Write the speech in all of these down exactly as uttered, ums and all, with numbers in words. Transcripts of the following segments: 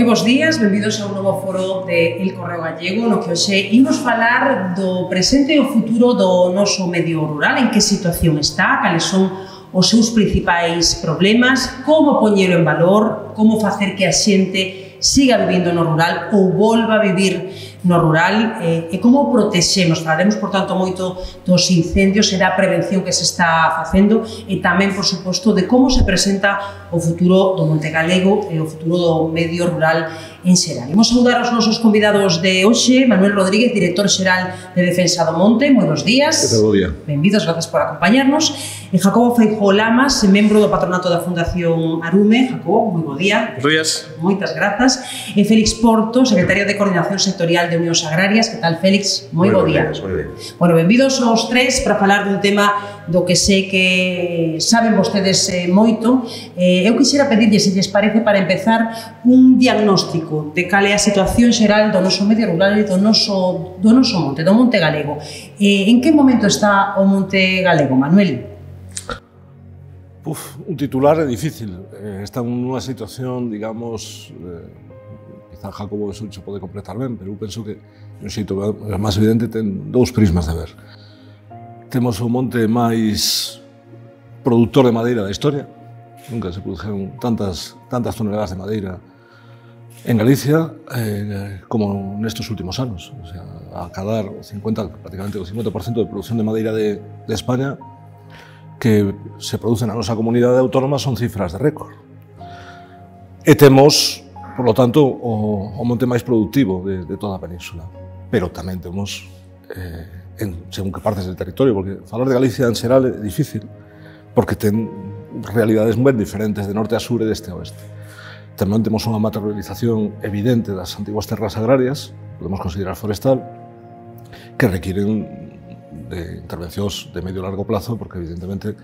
Moi bons días, benvidos a un novo foro de El Correo Gallego, no que hoxe imos falar do presente e o futuro do noso medio rural, en que situación está, cales son os seus principais problemas, como poñelo en valor, como facer que a xente siga vivindo no rural ou volva a vivir no rural eh, e como protexemos. Falaremos, por tanto, moito dos incendios e da prevención que se está facendo e tamén, por suposto, de como se presenta o futuro do Monte Galego e o futuro do medio rural en xeral. Imos saudar aos nosos convidados de hoxe, Manuel Rodríguez, director xeral de Defensa do Monte. Moi bons días. Que tal, bo día. Benvidos, gracias por acompañarnos. E Jacobo Feijóo Lamas, membro do patronato da Fundación Arume. Jacobo, moi bo día. Bos días. Moitas grazas. E Félix Porto, secretario de Coordinación Sectorial de Unións Agrarias. Que tal, Félix? Moi bo día. Moi ben. Bueno, benvidos aos tres para falar dun tema do que sei que saben vostedes eh, moito. Eh, eu quixera pedirlle, se lles parece, para empezar, un diagnóstico de cal é a situación xeral do noso medio rural e do noso, do noso monte, do Monte Galego. Eh, en que momento está o Monte Galego, Manuel? Uf, un titular é difícil. Eh, está nunha situación, digamos, eh, quizá Jacobo eso se pode completar ben, pero eu penso que un xeito máis evidente ten dous prismas de ver. Temos o monte máis produtor de madeira da historia. Nunca se produjeron tantas, tantas toneladas de madeira en Galicia eh, como nestes últimos anos. O sea, a cadar o cincuenta, prácticamente o cincuenta por ciento de produción de madeira de, de España que se produce na nosa comunidade autónoma son cifras de récord. E temos, por lo tanto, o, o monte máis productivo de, de toda a península. Pero tamén temos, eh, en, según que partes del territorio, porque falar de Galicia en xeral é difícil, porque ten realidades ben diferentes de norte a sur e deste a oeste. Tamén temos unha materialización evidente das antiguas terras agrarias, podemos considerar forestal, que requiren de intervencións de medio e largo plazo, porque evidentemente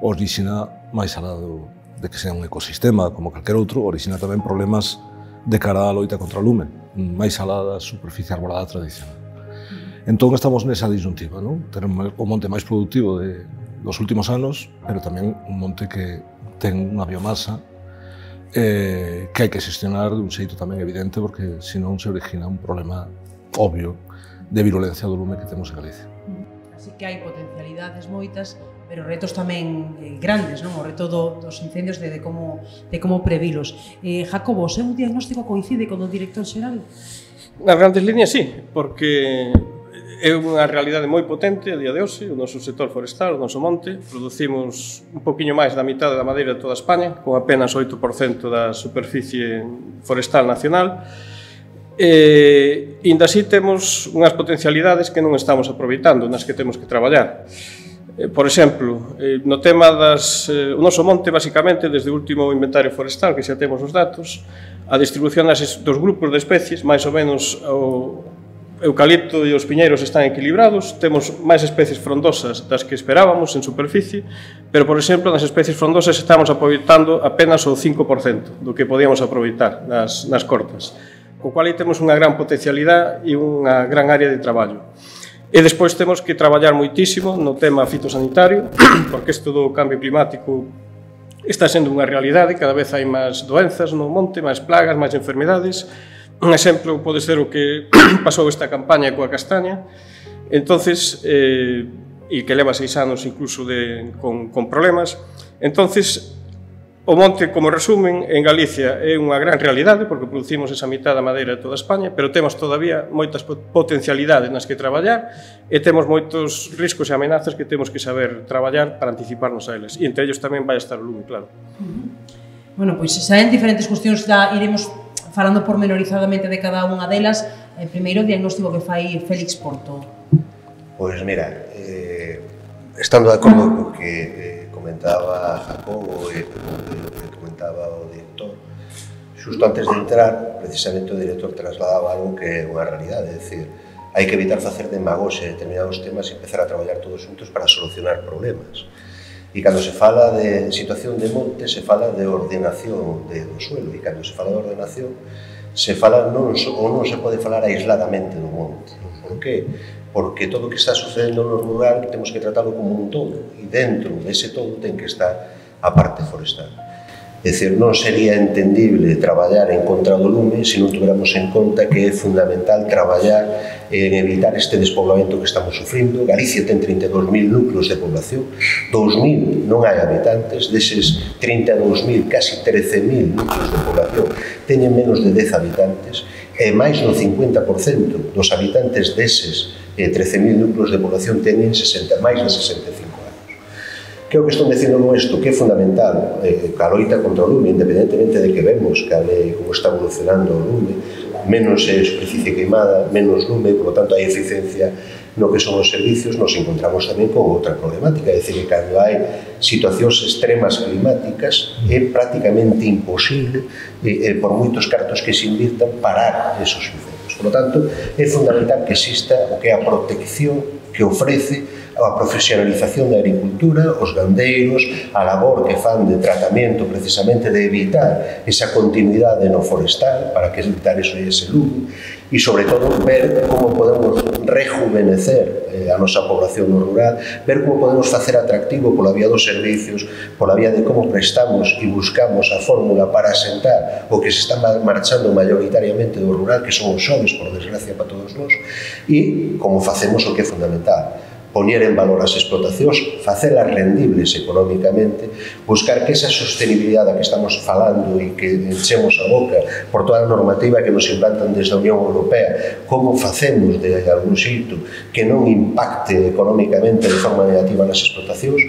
orixina máis alá do, de que sea un ecosistema como calquer outro, orixina tamén problemas de cara á loita contra o lume, máis alá da superficie arbolada tradicional. Entón estamos nesa disyuntiva, non? Tenemos o monte máis productivo de, dos últimos anos, pero tamén un monte que ten unha biomasa eh, que hai que xestionar dun xeito tamén evidente, porque senón se origina un problema obvio de virulencia do lume que temos en Galicia. Así que hai potencialidades moitas, pero retos tamén eh, grandes, non? O reto do, dos incendios de, de, como, de como previlos. Eh, Jacobo, o seu diagnóstico coincide con o director xeral? Nas grandes líneas, sí, porque é unha realidade moi potente a día de hoxe. O noso sector forestal, o noso monte, producimos un poquinho máis da mitad da madeira de toda España, con apenas oito por cento da superficie forestal nacional. E, ainda así, temos unhas potencialidades que non estamos aproveitando, nas que temos que traballar. Por exemplo, no tema das... O noso monte, basicamente, desde o último inventario forestal, que xa temos os datos, a distribución das, dos grupos de especies, máis ou menos o eucalipto e os piñeiros están equilibrados, temos máis especies frondosas das que esperábamos en superficie, pero, por exemplo, nas especies frondosas estamos aproveitando apenas o cinco por cento do que podíamos aproveitar nas, nas cortas, co cual aí temos unha gran potencialidade e unha gran área de traballo. E despois temos que traballar moitísimo no tema fitosanitario, porque isto do cambio climático está sendo unha realidade, cada vez hai máis doenzas no monte, máis plagas, máis enfermedades. Un exemplo pode ser o que pasou esta campaña coa castaña, entonces, eh, e que leva seis anos incluso de, con, con problemas. Entonces, o monte, como resumen, en Galicia é unha gran realidade, porque producimos esa mitad da madeira de toda España, pero temos todavía moitas potencialidades nas que traballar e temos moitos riscos e amenazas que temos que saber traballar para anticiparnos a eles. E entre ellos tamén vai estar o lume, claro. Bueno, pois xa en diferentes cuestións da iremos falando pormenorizadamente de cada unha delas. Eh, primeiro, o diagnóstico que fai Félix Porto. Pois mira, eh, estando de acordo co que eh, comentaba Jacobo e que comentaba o director, xusto antes de entrar, precisamente o director trasladaba algo que é unha realidade, é dicir, hai que evitar facer demagoxe de determinados temas e empezar a traballar todos juntos para solucionar problemas. E cando se fala de situación de monte, se fala de ordenación de, do suelo, e cando se fala de ordenación, se fala non, ou non se pode falar aisladamente do monte. Por que? Porque todo o que está sucedendo no rural temos que tratarlo como un todo, e dentro dese todo ten que estar a parte forestal. É dicir, non sería entendible traballar en contra do lume se non tuveramos en conta que é fundamental traballar en evitar este despoblamento que estamos sufrindo. Galicia ten trinta e dous mil núcleos de población, dous mil non hai habitantes, deses trinta e dous mil, casi trece mil núcleos de población teñen menos de dez habitantes, e máis do cincuenta por cento dos habitantes deses trece mil núcleos de población teñen máis de sesenta e cinco anos. Que é o que estou dicindo con isto? Que é fundamental eh, a loita contra o lume, independentemente de que vemos que eh, como está evolucionando o lume, menos é superficie queimada, menos lume, por lo tanto hai eficiencia no que son os servicios, nos encontramos tamén con outra problemática, é dicir, que cando hai situacións extremas climáticas é prácticamente imposible, eh, eh, por moitos cartos que se invirtan, parar esos incendios. Por lo tanto, é fundamental que exista o que é a protección que ofrece a profesionalización da agricultura, os gandeiros, a labor que fan de tratamento precisamente de evitar esa continuidade no forestal para que evitar eso e ese lume, e sobre todo ver como podemos rejuvenecer eh, a nosa población no rural, ver como podemos facer atractivo pola vía dos servicios, pola vía de como prestamos e buscamos a fórmula para asentar o que se está marchando maioritariamente do rural, que son os xoves, por desgracia para todos nós, e como facemos o que é fundamental, poñer en valor as explotacións, facelas rendibles económicamente, buscar que esa sostenibilidade que estamos falando e que enchemos a boca por toda a normativa que nos implantan desde a Unión Europea, como facemos de algún xeito que non impacte económicamente de forma negativa nas explotacións.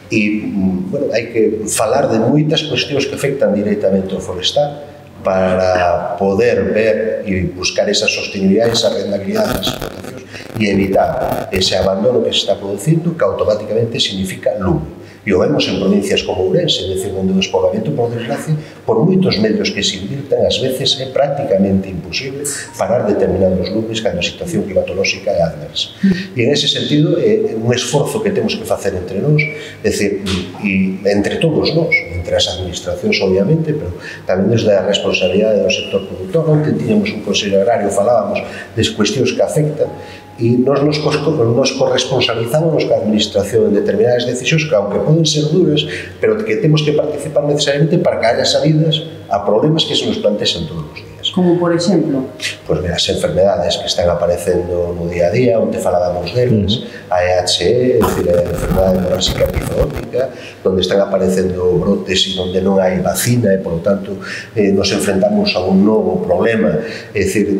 E, bueno, hai que falar de moitas cuestións que afectan directamente ao forestal para poder ver e buscar esa sostenibilidade, esa rentabilidade das explotacións e evitar ese abandono que se está producindo, que automáticamente significa lume. E o vemos en provincias como Ourense, é dicir, onde o despoboamento, por desgracia, por moitos medios que se invirtan, ás veces é prácticamente imposible parar determinados lumes cando a situación climatolóxica é adversa. E en ese sentido, é un esforzo que temos que facer entre nós, é dicir, e entre todos nós, entre as administracións, obviamente, pero tamén desde a responsabilidade do sector productor. Onte tiñamos un Consello Agrario, falábamos das cuestións que afectan, e nos nos, nos corresponsabilizamos ca administración en determinadas decisións que, aunque poden ser duras, pero que temos que participar necesariamente para que haya salidas a problemas que se nos plantexan todos os días. Como, por exemplo? Pois, mira, as enfermedades que están aparecendo no día a día, onde falábamos delas, uh-huh. a E H E, é dicir, a enfermedade hemorráxica epizootica, onde están aparecendo brotes e onde non hai vacina e, por lo tanto, eh, nos enfrentamos a un novo problema, é dicir,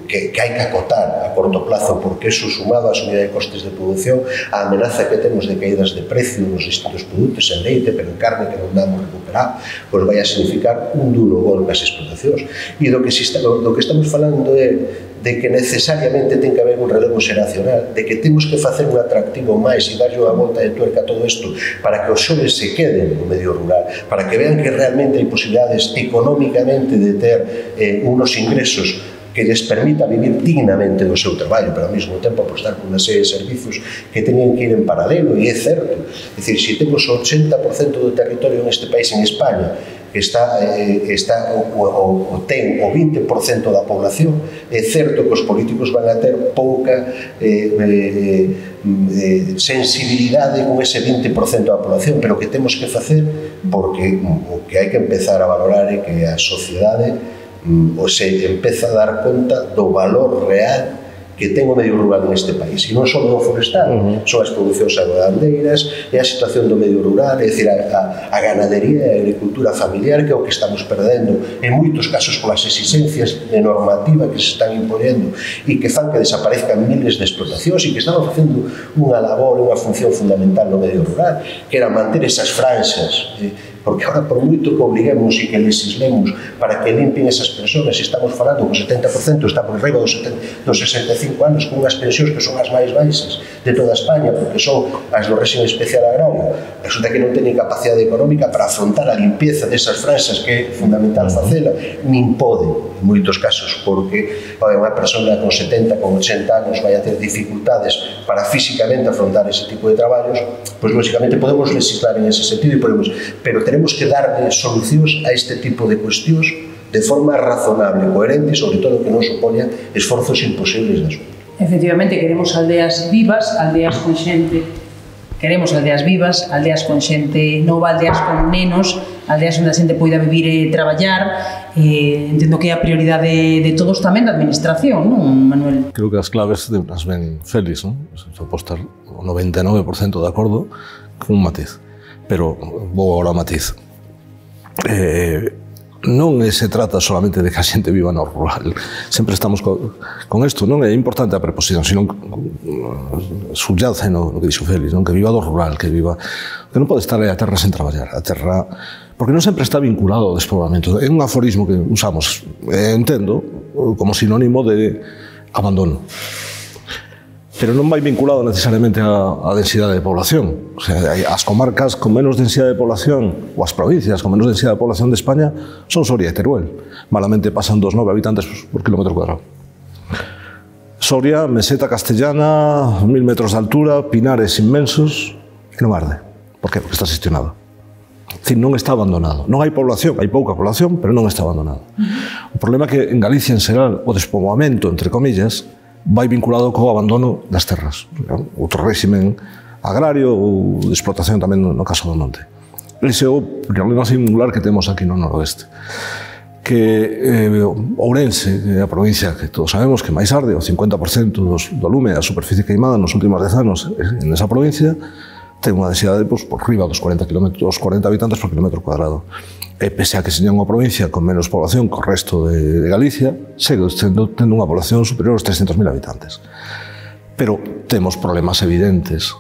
que, que hai que acotar a corto plazo, porque eso, sumado á subida de costes de produción, a amenaza que temos de caídas de precio nos distintos produtos, en leite, pero en carne, que non damos recuperar, pois vai a significar un duro golpe ás explotacións. E do que, está, do que estamos falando é de que necesariamente ten que haber un relevo xeracional, de que temos que facer un atractivo máis e darlle unha volta de tuerca a todo isto para que os xoves se queden no medio rural, para que vean que realmente hai posibilidades económicamente de ter eh, unos ingresos que les permita vivir dignamente do seu traballo, pero ao mesmo tempo apostar por unha serie de servicios que teñen que ir en paralelo, e é certo. É dicir, se temos o ochenta por cento do territorio neste país, en España, que está, eh, está o, o, o ten o vinte por cento da población, é certo que os políticos van a ter pouca eh, eh, eh, sensibilidade con ese vinte por cento da población, pero que temos que facer, porque o que hai que empezar a valorar é que a sociedade ou se empeza a dar conta do valor real que ten o medio rural neste país, e non só do forestal, uh-huh. son as producións agroandeiras, é a situación do medio rural, é dicir, a, a, a ganadería e a agricultura familiar, que é o que estamos perdendo en moitos casos polas exigencias de normativa que se están imponendo e que fan que desaparezcan miles de explotacións e que estamos facendo unha labor, unha función fundamental no medio rural, que era manter esas franxas, eh, porque ahora, por moito que obliguemos e que legislemos para que limpen esas persoas, estamos falando que o setenta por cento está por arriba dos sesenta e cinco anos, con unhas pensións que son as máis baixas de toda España, porque son as do réxime especial agrario. Resulta que non teñen capacidade económica para afrontar a limpieza desas franxas, que é fundamental facela, nin poden, en moitos casos, porque unha persona con setenta, con ochenta anos vai a ter dificultades para físicamente afrontar ese tipo de traballos, pois, lógicamente, podemos legislar en ese sentido, e podemos, pero tenemos que darle solucións a este tipo de cuestións de forma razonable, coherente, e sobre todo que non supoña esforzos imposibles de asumir. Efectivamente, queremos aldeas vivas, aldeas con xente, queremos aldeas vivas, aldeas con xente nova, aldeas con nenos, aldeas onde a xente poida vivir e traballar. Eh, entendo que é a prioridade de, de todos tamén da administración, non, Manuel? Creo que as claves as ven Félix, non? Se pode estar o noventa e nove por cento de acordo con un matiz, pero vou agora ao matiz. Eh, non se trata solamente de que a xente viva no rural, sempre estamos co, con isto, non é importante a preposición, sino subyace no, no que dixo Félix, non? Que viva do rural, que viva, que non pode estar a terra sen traballar, a terra, porque non sempre está vinculado ao despoboamento. É un aforismo que usamos, eh, entendo, como sinónimo de abandono, pero non vai vinculado necesariamente á densidade de población. O sea, as comarcas con menos densidade de población, ou as provincias con menos densidade de población de España, son Soria e Teruel. Malamente pasan dos nove habitantes por kilómetro cuadrado. Soria, meseta castellana, mil metros de altura, pinares inmensos, e non arde. Por qué? Porque está xestionado. É dicir, non está abandonado. Non hai población, hai pouca población, pero non está abandonado. O problema é que en Galicia, en xeral, o despoboamento, entre comillas, vai vinculado co abandono das terras. Outro réximen agrario ou de explotación tamén no caso do monte. Ese é o problema singular que temos aquí no noroeste. Que eh, Ourense, que é a provincia que todos sabemos que máis arde, o cincuenta por cento dos, do lume da superficie queimada nos últimos dez anos en esa provincia, ten unha densidade pues, por riba dos cuarenta habitantes por kilómetro cuadrado. E pese a que seña unha provincia con menos población que o resto de, de Galicia, segue tendo, tendo unha población superior aos trescentos mil habitantes. Pero temos problemas evidentes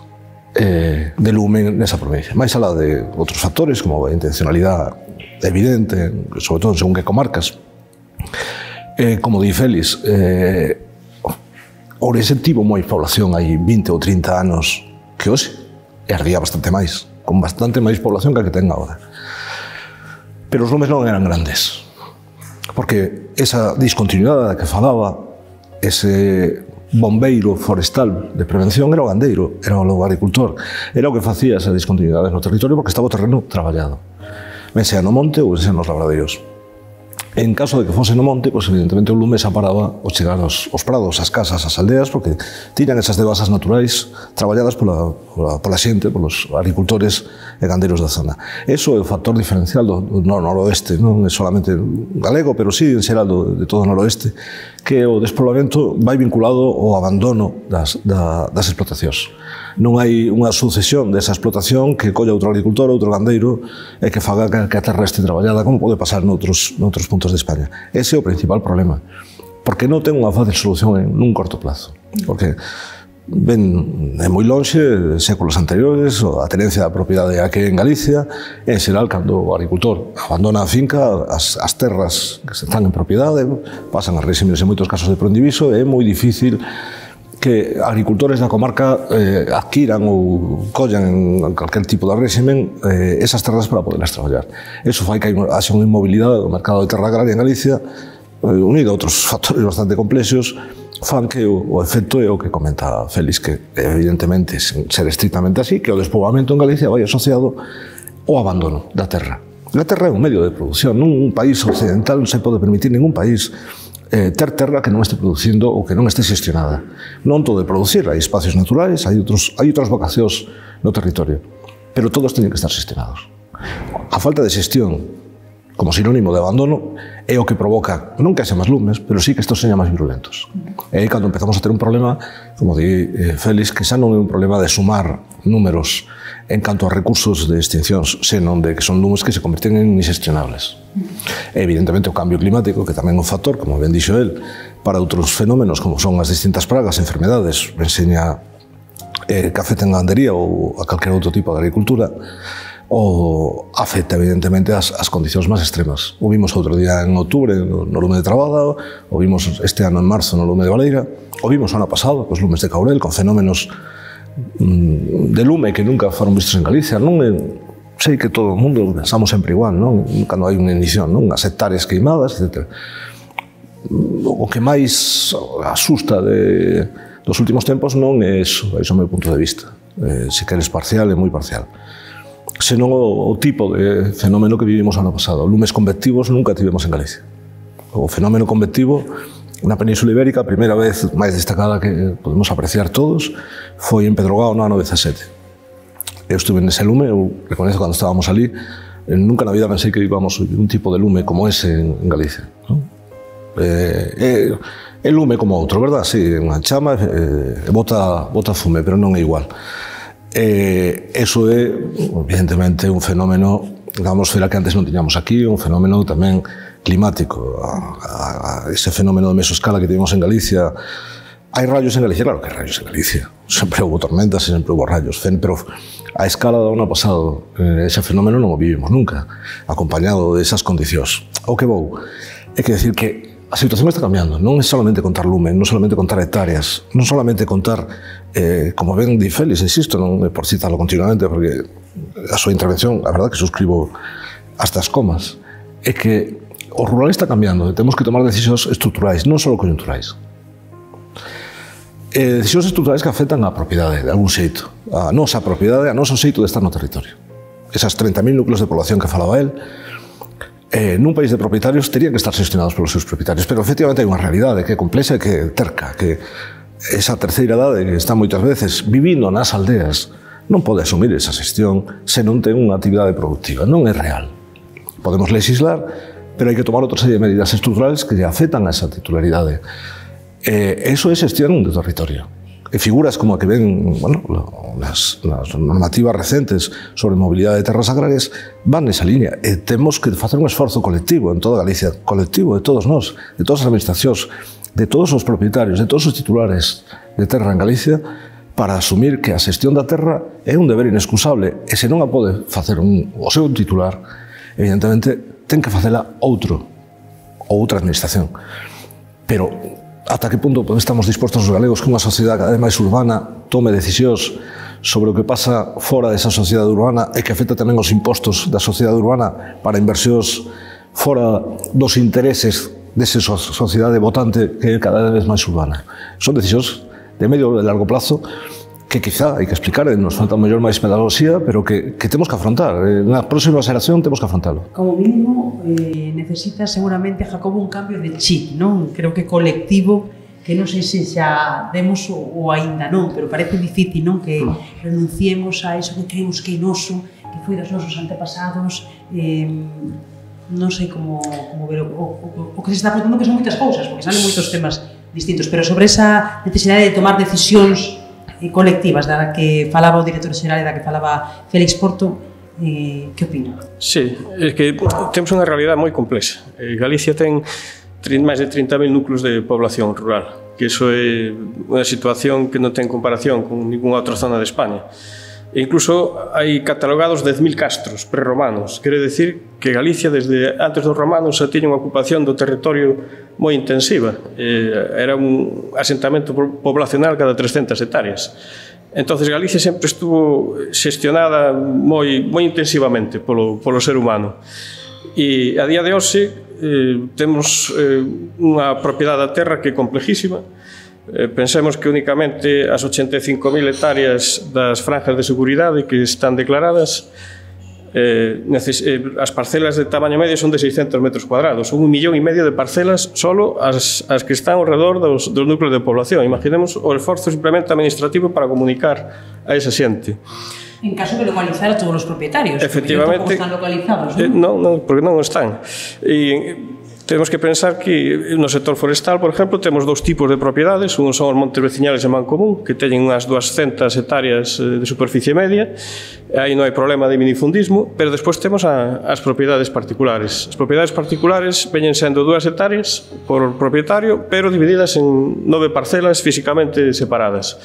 eh, de lume nesa provincia. Mais alá de outros factores, como a intencionalidade evidente, sobre todo según que comarcas. Eh, como di Félix, eh, Ourense tivo moi población hai vinte ou trinta anos que hoxe, e ardía bastante máis, con bastante máis población que a que ten agora. Pero os lumes non eran grandes, porque esa discontinuidade que falaba, ese bombeiro forestal de prevención era o gandeiro, era o agricultor, era o que facía esa discontinuidade no territorio porque estaba o terreno traballado, ben sea no monte ou sea nos labradeiros. En caso de que fose no monte, pues evidentemente o lume se aparaba ao chegar aos, aos prados, ás casas, ás aldeas, porque tiñan esas devasas naturais traballadas pola, pola, pola xente, polos agricultores e gandeiros da zona. Eso é o factor diferencial do, do noroeste, non é solamente galego, pero sí en xeral do, de todo o noroeste, que o despoboamento vai vinculado ao abandono das, da, das explotacións. Non hai unha sucesión desa explotación que colla outro agricultor, outro gandeiro, e que faga que a terra este traballada, como pode pasar noutros, noutros puntos de España. Ese é o principal problema, porque non ten unha fácil solución en un corto plazo, porque ven de moi lonxe, de séculos anteriores, a tenencia da propiedade aquí en Galicia, en xeral, cando o agricultor abandona a finca, as, as terras que están en propiedade, pasan a réximes en moitos casos de proindiviso, e é moi difícil que agricultores da comarca eh, adquiran ou collan en calquer tipo de réximen eh, esas terras para poderlas traballar. Eso fai que haxa unha inmobilidade do mercado de terra agraria en Galicia, eh, unido a outros factores bastante complexos, fan que o, o efecto é o que comenta Félix, que evidentemente, sen ser estrictamente así, que o despoboamento en Galicia vai asociado ao abandono da terra. A terra é un medio de produción, nun país occidental non se pode permitir ningún país Eh, ter terra que non este producindo ou que non este xestionada. Non todo de producir, hai espacios naturais, hai, outros, hai outras vocacións no territorio, pero todos teñen que estar xestionados. A falta de xestión, como sinónimo de abandono, é o que provoca, non que haxa máis lumes, pero sí que estos señan máis virulentos. E aí cando empezamos a ter un problema, como di eh, Félix, que xa non é un problema de sumar números en canto a recursos de extincións, senón de que son lumes que se convirten en inxestionables. E, evidentemente, o cambio climático, que tamén é un factor, como ben dixo el, para outros fenómenos, como son as distintas pragas, enfermedades, enseña eh, que afecten a gandería ou a calquer outro tipo de agricultura, ou afecta, evidentemente, as, as condicións máis extremas. O vimos outro día en outubro no, no lume de Trabada, o vimos este ano en marzo no lume de Valeira, o vimos o ano pasado cos lumes de Caurel, con fenómenos de lume que nunca foron vistos en Galicia. Non é, sei que todo o mundo pensamos sempre igual, non? Cando hai unha inición, non? As hectáreas queimadas, etcétera. O que máis asusta de, dos últimos tempos non é iso, é iso o meu punto de vista. Eh, se queres parcial, é moi parcial. Senón o, o tipo de fenómeno que vivimos ano pasado. Lumes convectivos nunca tivemos en Galicia. O fenómeno convectivo na Península Ibérica, a primeira vez máis destacada que podemos apreciar todos, foi en Pedrogao no ano dezasete. Eu estuve nese lume, eu reconhezo cando estábamos ali, nunca na vida pensei que íbamos a un tipo de lume como ese en Galicia, non? Eh, é lume como outro, verdad? Sí, unha chama e eh, bota, bota fume, pero non é igual. Eh, eso é, evidentemente, un fenómeno da atmosfera que antes non tiñamos aquí, un fenómeno tamén climático. A, a, a ese fenómeno de mesoscala que tivemos en Galicia. Hai rayos en Galicia? Claro que hai rayos en Galicia. Sempre houve tormentas e sempre houve rayos. Pero a escala do ano pasado, ese fenómeno non o vivimos nunca, acompañado desas condicións. O que vou é que decir que a situación está cambiando. Non é solamente contar lume, non solamente contar hectáreas, non solamente contar, eh, como ben di Félix, insisto, non é por citarlo continuamente, porque a súa intervención, a verdade que suscribo hasta as comas, é que o rural está cambiando e temos que tomar decisións estruturais, non só coyunturais. Eh, decisións estruturais que afectan a propiedade, de algún xeito. A nosa propiedade, a noso xeito de estar no territorio. Esas treinta mil núcleos de población que falaba él, eh, nun país de propietarios terían que estar gestionados polos seus propietarios, pero efectivamente hai unha realidade que é complexa e que é terca, que esa terceira idade que está moitas veces vivindo nas aldeas non pode asumir esa xestión se non ten unha actividade productiva, non é real. Podemos legislar, pero hai que tomar outra serie de medidas estruturales que lle afectan a esa titularidade. Eh, eso é xestión de territorio. E figuras como a que ven, bueno, las, las normativas recentes sobre mobilidade de terras agrarias van nesa línea. E temos que facer un esforzo colectivo en toda Galicia, colectivo de todos nós, de todas as administracións, de todos os propietarios, de todos os titulares de terra en Galicia, para asumir que a xestión da terra é un deber inexcusable e se non a pode facer un, o seu titular, evidentemente ten que facela outro ou outra administración. Pero ata que punto estamos dispostos os galegos que unha sociedade cada vez máis urbana tome decisións sobre o que pasa fora desa sociedade urbana e que afecta tamén os impostos da sociedade urbana para inversións fora dos intereses desa sociedade votante que é cada vez máis urbana. Son decisións de medio e largo plazo que quizá hai que explicar, nos falta mellor máis pedagogía, pero que, que temos que afrontar. Na próxima xeración temos que afrontalo. Como mínimo, eh, necesita seguramente, Jacobo, un cambio de chip, non? Creo que colectivo, que non sei se xa demos ou aínda non, pero parece difícil, non? Que renunciemos a eso que creemos que é noso, que foi dos nosos antepasados, eh, non sei como, como ver o, o, o que se está afrontando, que son moitas cousas, porque salen moitos temas distintos, pero sobre esa necesidade de tomar decisións colectivas da que falaba o director xeral e da que falaba Félix Porto, eh, que opina? Sí, é que temos unha realidade moi complexa. Galicia ten máis de trinta mil núcleos de población rural, que iso é unha situación que non ten comparación con ninguna outra zona de España. E incluso hai catalogados dez mil castros prerromanos. Quere decir que Galicia, desde antes dos romanos, xa tiña unha ocupación do territorio moi intensiva. Era un asentamento poblacional cada trescentas hectáreas. Entonces Galicia sempre estuvo xestionada moi, moi intensivamente polo, polo ser humano. E a día de hoxe eh, temos eh, unha propiedade da terra que é complejísima. Eh, pensemos que únicamente as ochenta e cinco mil hectáreas das franjas de seguridade que están declaradas, eh, neces eh, as parcelas de tamaño medio son de seiscentos metros cuadrados, son un millón e medio de parcelas solo as, as que están ao redor dos, dos núcleos de población. Imaginemos o esforzo simplemente administrativo para comunicar a esa xente. En caso de localizar a todos os propietarios, efectivamente, porque non están localizados, non? Eh, non, non, porque non están. E temos que pensar que no sector forestal, por exemplo, temos dous tipos de propiedades. Un son os montes veciñales en mancomún, que teñen unhas duascentas hectáreas de superficie media. Aí non hai problema de minifundismo, pero despois temos a, as propiedades particulares. As propiedades particulares veñen sendo dúas hectáreas por propietario, pero divididas en nove parcelas físicamente separadas.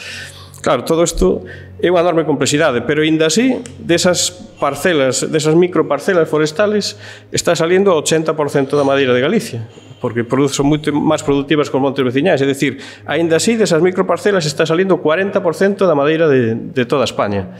Claro, todo isto é unha enorme complexidade, pero ainda así, desas parcelas, desas microparcelas forestales, está salindo o ochenta por cento da madeira de Galicia, porque son moito máis productivas que os montes veciñais, é dicir, ainda así, desas microparcelas está salindo o cuarenta por cento da madeira de, de toda España.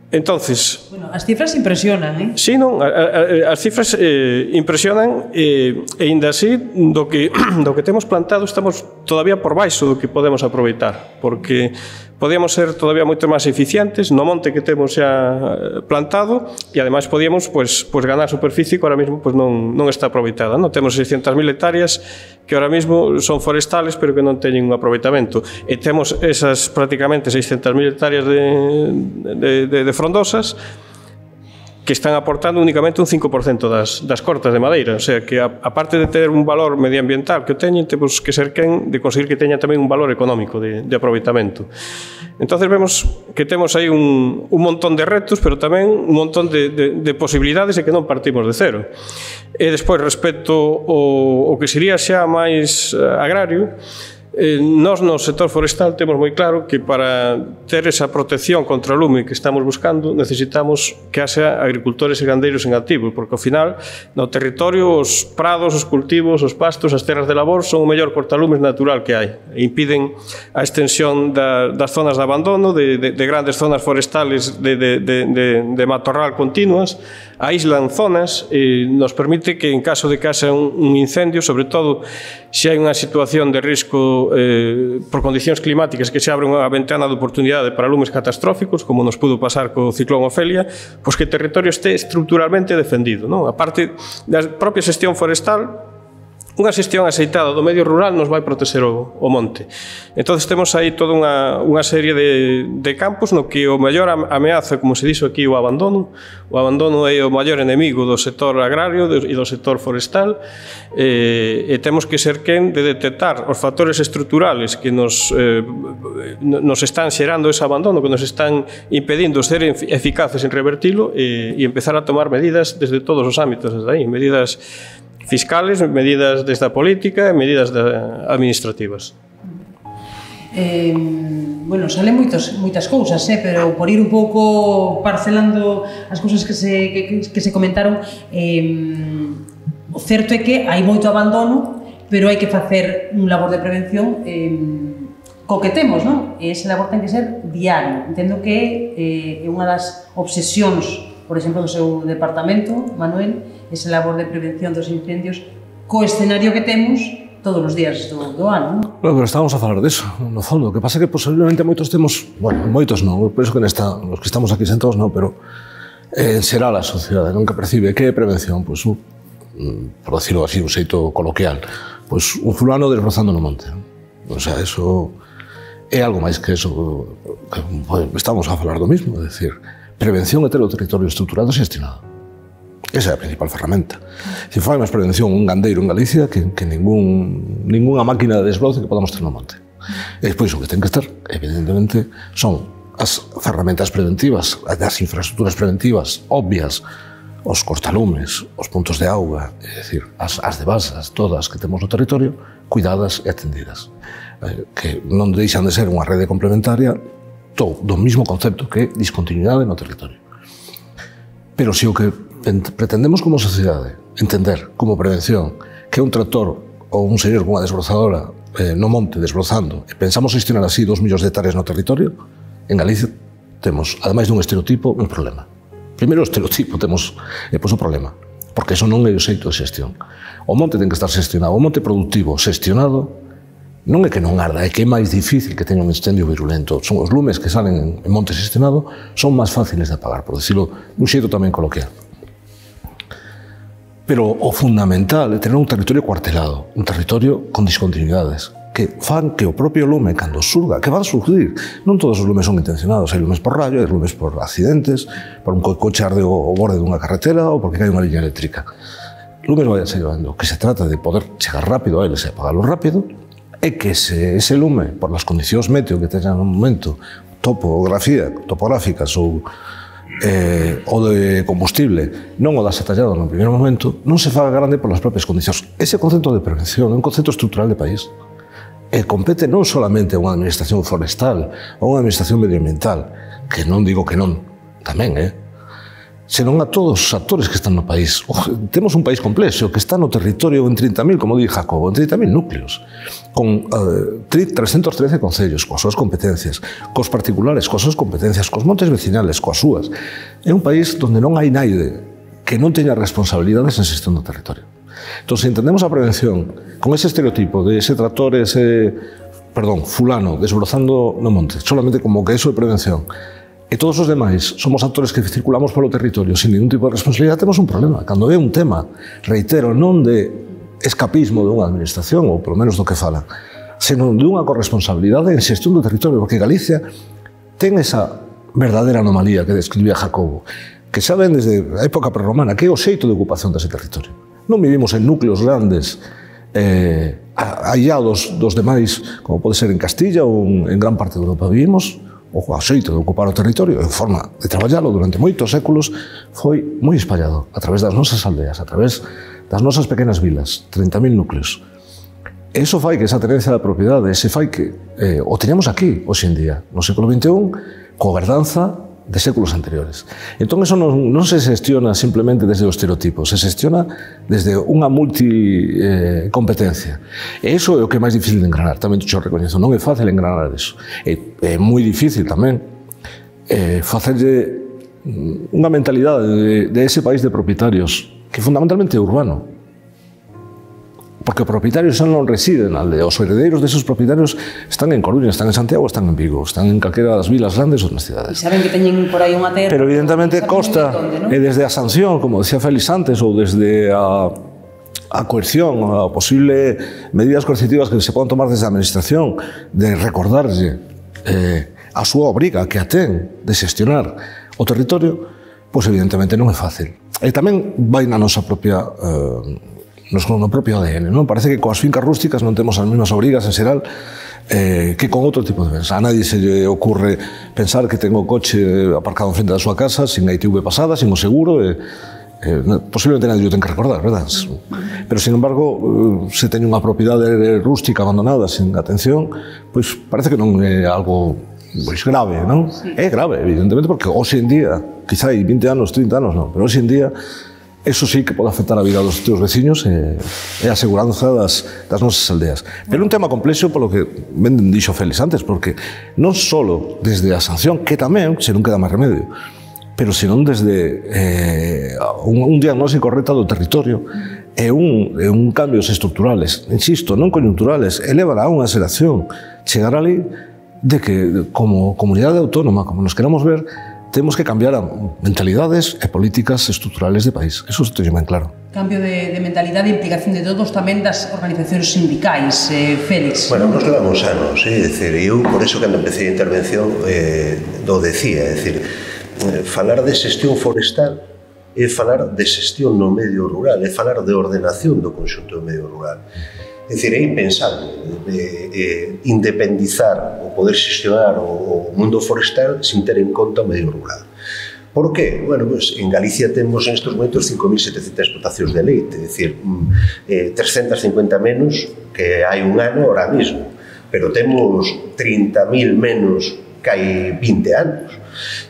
Entonces, bueno, as cifras impresionan, eh? Sí, non, a, a, as cifras eh, impresionan e, e ainda así do que, do que temos plantado estamos todavía por baixo do que podemos aproveitar, porque podíamos ser todavía moito máis eficientes no monte que temos xa plantado e ademais podíamos pues, pues ganar superficie que ahora mesmo pues, non, non está aproveitada, non? Temos seiscentas mil hectáreas que ahora mesmo son forestales pero que non teñen un aproveitamento e temos esas prácticamente seiscentas mil hectáreas de, de, de, de frondosas que están aportando únicamente un cinco por cento das, das cortas de madeira. O sea, que a, aparte de ter un valor medioambiental que o teñen, temos que ser quen de conseguir que teña tamén un valor económico de, de aproveitamento. Entonces vemos que temos aí un, un montón de retos, pero tamén un montón de, de, de posibilidades e que non partimos de cero. E despois, respecto ao, ao que sería xa máis agrario, Eh, nós no sector forestal temos moi claro que para ter esa protección contra o lume que estamos buscando necesitamos que haxa agricultores e gandeiros en activo, porque ao final no territorio os prados, os cultivos, os pastos, as terras de labor son o mellor cortalumes natural que hai e impiden a extensión da, das zonas de abandono, de, de, de grandes zonas forestales de, de, de, de, de matorral continuas, aíslan zonas e nos permite que en caso de que haxa un, un incendio, sobre todo se hai unha situación de risco eh, por condicións climáticas que se abre unha ventana de oportunidade para lumes catastróficos, como nos pudo pasar co ciclón Ofelia, pois que o territorio este estructuralmente defendido, non? A parte da propia xestión forestal, unha xestión aceitada do medio rural nos vai proteger o, o monte. Entón, temos aí toda unha, unha serie de, de campos no que o maior ameaza, como se dixo aquí, o abandono. O abandono é o maior enemigo do sector agrario e do sector forestal e, e temos que ser quen de detectar os factores estruturales que nos, eh, nos están xerando ese abandono, que nos están impedindo ser eficaces en revertilo e, e empezar a tomar medidas desde todos os ámbitos, desde aí, medidas fiscales, medidas desde a política e medidas administrativas. Eh, bueno, salen moitos, moitas cousas, eh, pero por ir un pouco parcelando as cousas que se, que, que se comentaron, eh, o certo é que hai moito abandono, pero hai que facer un labor de prevención eh, co que temos, non? E ese labor ten que ser diario. Entendo que eh, é unha das obsesións, por exemplo, do seu departamento, Manuel, esa labor de prevención dos incendios co escenario que temos todos os días do, do ano, non? Bueno, pero estamos a falar disso, no fondo. O que pasa é que posiblemente moitos temos, bueno, moitos non, por iso que nesta, os que estamos aquí sentados non, pero eh, en xeral a sociedade nunca percibe que é prevención, pois, un, por decirlo así, un xeito coloquial, pois un fulano desbrozando no monte. O sea, eso é algo máis que eso, que, pues, estamos a falar do mismo, é dicir, prevención é ter o territorio estruturado e xestionado. Esa é a principal ferramenta. Se fai máis prevención un gandeiro en Galicia que, que ningún, ninguna máquina de desbroce que podamos ter no monte. E despois o que ten que estar, evidentemente, son as ferramentas preventivas, as infraestructuras preventivas obvias, os cortalumes, os puntos de auga, é dicir, as, as devasas todas que temos no territorio, cuidadas e atendidas. Eh, que non deixan de ser unha rede complementaria do, do mismo concepto que discontinuidade no territorio. Pero se o que pretendemos como sociedade entender como prevención que un tractor ou un señor con unha desbrozadora eh, no monte desbrozando e pensamos gestionar así dos millóns de hectáreas no territorio, en Galicia temos, ademais dun estereotipo, un problema. Primeiro o estereotipo temos e pois o problema, porque eso non é o xeito de xestión. O monte ten que estar xestionado, o monte productivo xestionado non é que non arda, é que é máis difícil que teña un incendio virulento. Son os lumes que salen en monte xestionado son máis fáciles de apagar, por decirlo un xeito tamén coloquial. Pero o fundamental é ter un territorio cuartelado, un territorio con discontinuidades, que fan que o propio lume, cando surga, que van a surgir, non todos os lumes son intencionados, hai lumes por rayo, hai lumes por accidentes, por un coche arde o borde dunha carretera ou porque cae unha liña eléctrica. Lumes vai a ser llevando, que se trata de poder chegar rápido a eles e apagarlo rápido, é que se ese lume, por las condicións meteo que teñan no momento, topografía, topográficas ou Eh, o de combustible non o das atallado no primeiro momento, non se faga grande por as propias condicións. Ese concepto de prevención é un concepto estrutural de país e compete non solamente a unha administración forestal ou unha administración medioambiental, que non digo que non, tamén, eh? senón a todos os actores que están no país. Ojo, temos un país complexo que está no territorio en trinta mil, como di Jacobo, en trinta mil núcleos, con uh, trescentos trece concellos, coas súas competencias, cos particulares, coas súas competencias, cos montes vecinales, coas súas. É un país onde non hai naide que non teña responsabilidades en xestión do territorio. Entón, se entendemos a prevención con ese estereotipo de ese tractor, ese, perdón, fulano, desbrozando no monte, solamente como que eso é prevención, e todos os demais somos actores que circulamos polo territorio sin ningún tipo de responsabilidade, temos un problema. Cando é un tema, reitero, non de escapismo de unha administración, ou polo menos do que falan, senón de unha corresponsabilidade en xestión do territorio, porque Galicia ten esa verdadeira anomalía que describía Jacobo. que xa ven desde a época prerromana, que é o xeito de ocupación dese territorio. Non vivimos en núcleos grandes, eh, aillados dos demais, como pode ser en Castilla ou en gran parte de Europa. Vivimos o xeito de ocupar o territorio, en forma de traballalo durante moitos séculos, foi moi espallado a través das nosas aldeas, a través das nosas pequenas vilas, trinta mil núcleos. E iso fai que esa tenencia da propiedade, ese fai que eh, o teñamos aquí, hoxe en día, no século vinte e un, co verdanza de séculos anteriores. Entón, eso non, non se xestiona simplemente desde o estereotipo, se xestiona desde unha multicompetencia. E iso é o que é máis difícil de engranar, tamén te xo recoñezo, non é fácil engranar eso. É, é moi difícil tamén eh, facerlle unha mentalidade de, de ese país de propietarios que fundamentalmente é urbano. Porque os propietarios xa non residen na aldea, os heredeiros desos propietarios están en Coruña, están en Santiago, están en Vigo, están en calquera das vilas grandes ou nas cidades. E saben que teñen por aí unha terra. Pero evidentemente costa, onde, ¿no? E desde a sanción, como decía Félix antes, ou desde a, a coerción, a posible medidas coercitivas que se poden tomar desde a administración, de recordarlle eh, a súa obriga que a ten de xestionar o territorio, pois evidentemente non é fácil. E tamén vai na nosa propia... Eh, nos no propio A D N, non? Parece que coas fincas rústicas non temos as mesmas obrigas en xeral eh, que con outro tipo de bens. A nadie se lle ocurre pensar que ten o coche aparcado en frente da súa casa sin a I T V pasada, sin o seguro, e, eh, posiblemente nadie o ten que recordar, verdad? Pero, sin embargo, se teñe unha propiedade rústica abandonada sin atención, pois parece que non é algo pois grave, non? Sí. É grave, evidentemente, porque hoxe en día, quizá hai vinte anos, trinta anos, non, pero hoxe en día eso sí que pode afectar a vida dos teus veciños e, e a seguranza das, das nosas aldeas. Pero un tema complexo polo que ben dixo Félix antes, porque non só desde a sanción, que tamén, se non queda máis remedio, pero senón desde eh, un, un diagnóstico correcto do territorio e un, e un cambios estructurales, insisto, non coyunturales, elevará a unha xeración, chegar ali de que como comunidade autónoma, como nos queramos ver, temos que cambiar a mentalidades e políticas estruturales de país. Eso se teño ben claro. Cambio de, de mentalidade e implicación de todos, tamén das organizacións sindicais, eh, Félix. Bueno, nos levamos anos, é dicir, eu por eso cando empecé a intervención eh, do decía, é dicir, eh, falar de xestión forestal é falar de xestión no medio rural, é falar de ordenación do conxunto do medio rural. É dicir, é impensable eh, eh, independizar ou poder xestionar o, o mundo forestal sin ter en conta o medio rural. Por qué? Bueno, pues, en Galicia temos en estes momentos cinco mil setecentas explotacións de leite, é dicir, eh, trescentas cincuenta menos que hai un ano ahora mismo, pero temos trinta mil menos que hai vinte anos.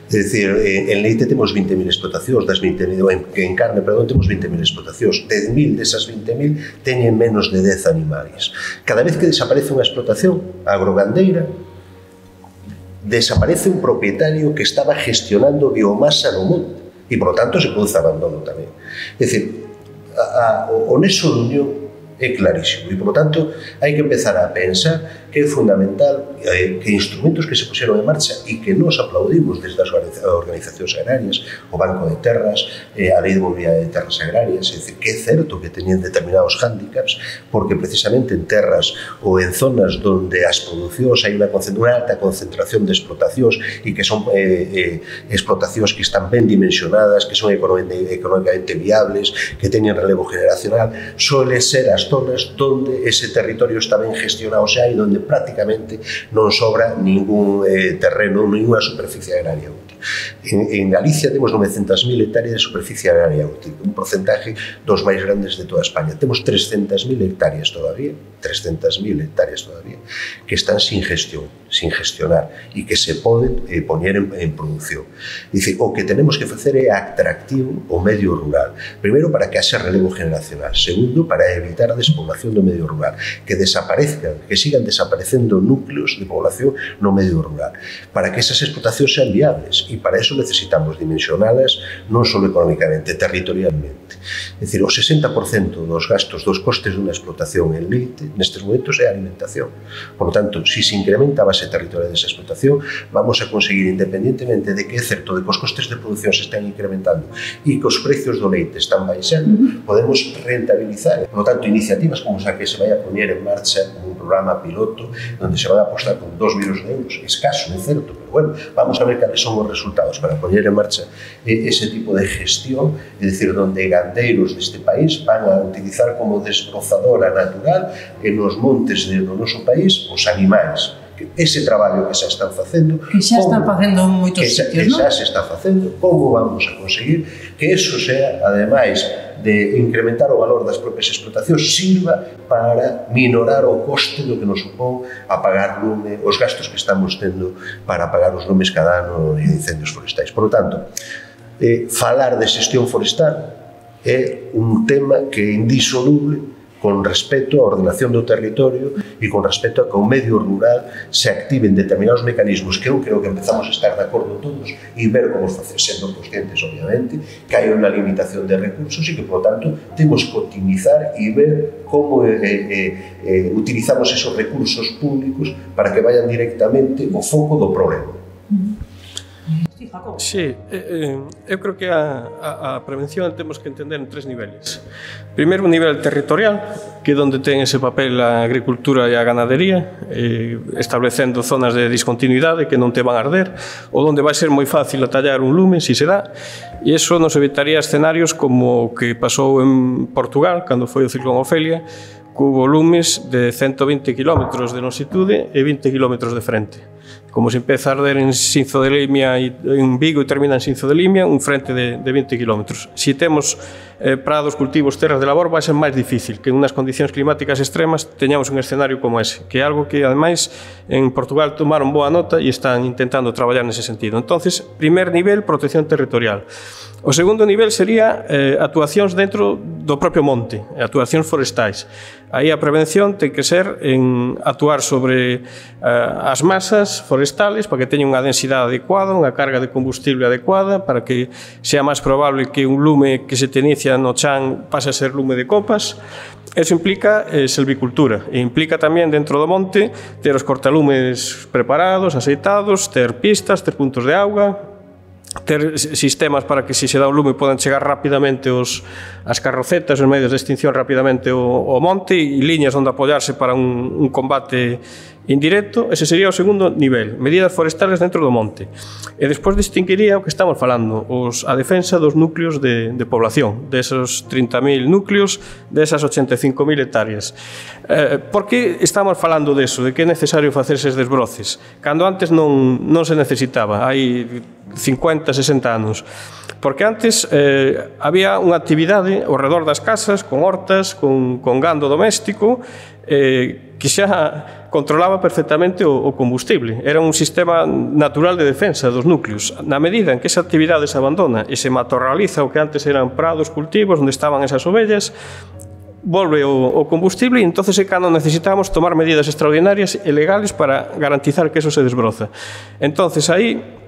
É dicir, en leite temos vinte mil explotacións, das vinte mil, en carne, perdón, temos vinte mil explotacións. dez mil desas vinte mil teñen menos de dez animais. Cada vez que desaparece unha explotación agrogandeira, desaparece un propietario que estaba gestionando biomasa no monte e, por lo tanto, se produce abandono tamén. É dicir, a, a, o nexo de unión é clarísimo e, por lo tanto, hai que empezar a pensar que é fundamental eh, que instrumentos que se puxeron en marcha e que nos aplaudimos desde as organizacións agrarias, o Banco de Terras, eh, a Lei de Movilidade de Terras Agrarias, é dicir, que é certo que tenían determinados hándicaps, porque precisamente en terras ou en zonas onde as producións hai unha, unha alta concentración de explotacións e que son eh, eh, explotacións que están ben dimensionadas, que son económicamente viables, que teñen relevo generacional, suele ser as zonas onde ese territorio está ben gestionado xa e onde prácticamente non sobra ningún eh, terreno, ninguna superficie agraria útil. En, en Galicia temos novecentas mil hectáreas de superficie agraria útil, un porcentaje dos máis grandes de toda España. Temos trescentas mil hectáreas todavía, trescentas mil hectáreas todavía, que están sin gestión, sin gestionar e que se poden eh, poñer en, en producción. Dice, o que tenemos que facer é atractivo o medio rural. Primeiro, para que haxa relevo generacional. Segundo, para evitar a despoblación do medio rural, que desaparezcan, que sigan desaparecendo núcleos de población no medio rural, para que esas explotacións sean viables e para eso necesitamos dimensionalas non só económicamente, territorialmente. É dicir, o sesenta por cento dos gastos dos costes dunha explotación en leite nestes momentos é a alimentación. Por lo tanto, se se incrementa a base territorial desa explotación, vamos a conseguir, independentemente de que é certo de que os costes de produción se están incrementando e que os precios do leite están baixando, podemos rentabilizar. Por lo tanto, iniciativas como esa que se vai a poñer en marcha como un programa piloto onde se van a apostar con dos millóns de euros, escaso, é certo, pero bueno, vamos a ver cales son os resultados para poñer en marcha ese tipo de gestión, é dicir, onde gandeiros deste país van a utilizar como desbrozadora natural en os montes do noso país os animais. Ese traballo que xa están facendo, que xa están facendo en moitos sitios, que xa se está facendo, como vamos a conseguir que eso sea, ademais de incrementar o valor das propias explotacións, sirva para minorar o coste do que nos supón apagar lume, os gastos que estamos tendo para apagar os lumes cada ano en incendios forestais. Por lo tanto, eh, falar de xestión forestal é un tema que é indisoluble con respecto á ordenación do territorio e con respecto a que o medio rural se activen determinados mecanismos que eu creo que empezamos a estar de acordo todos e ver como facer, sendo conscientes, obviamente, que hai unha limitación de recursos e que, por lo tanto, temos que optimizar e ver como eh, eh, eh, utilizamos esos recursos públicos para que vayan directamente ao foco do problema. Sí, eh, eu creo que a, a, a prevención temos que entender en tres niveles. Primeiro, un nivel territorial, que é onde ten ese papel a agricultura e a ganadería, eh, establecendo zonas de discontinuidade que non te van a arder, ou onde vai ser moi fácil atallar un lume, se se dá, e iso nos evitaría escenarios como o que pasou en Portugal, cando foi o ciclón Ofelia, cubo lumes de ciento vinte kilómetros de longitude e vinte kilómetros de frente. Como se empeza a arder en Sinzo de Limia e en Vigo e termina en Sinzo de Limia, un frente de, de vinte kilómetros. Se temos eh, prados, cultivos, terras de labor, vai ser máis difícil que en unhas condicións climáticas extremas teñamos un escenario como ese, que é algo que, ademais, en Portugal tomaron boa nota e están intentando traballar nese sentido. Entonces, primer nivel, protección territorial. O segundo nivel sería eh, actuacións dentro do propio monte, actuacións forestais. Aí a prevención ten que ser en actuar sobre eh, as masas forestales para que teñan unha densidade adecuada, unha carga de combustible adecuada, para que sea máis probable que un lume que se te inicia no chan pase a ser lume de copas. Eso implica eh, silvicultura e implica tamén dentro do monte ter os cortalumes preparados, aceitados, ter pistas, ter puntos de auga, ter sistemas para que se se dá un lume podan chegar rapidamente os, as carrocetas, os medios de extinción rapidamente ao, ao monte e liñas onde apoiarse para un, un combate indirecto. Ese sería o segundo nivel, medidas forestales dentro do monte. E despois distinguiría o que estamos falando, os, a defensa dos núcleos de, de población, desos trinta mil núcleos, desas ochenta e cinco mil hectáreas. Eh, por que estamos falando deso, de que é necesario facer eses desbroces, cando antes non, non se necesitaba, hai cincuenta, sesenta anos? Porque antes eh, había unha actividade ao redor das casas, con hortas, con, con gando doméstico, eh, que xa controlaba perfectamente o, o combustible. Era un sistema natural de defensa dos núcleos. Na medida en que esa actividade se abandona e se matorraliza o que antes eran prados, cultivos, onde estaban esas ovellas, volve o, o combustible e entonces é cando necesitamos tomar medidas extraordinarias e legales para garantizar que eso se desbroza. Entonces aí,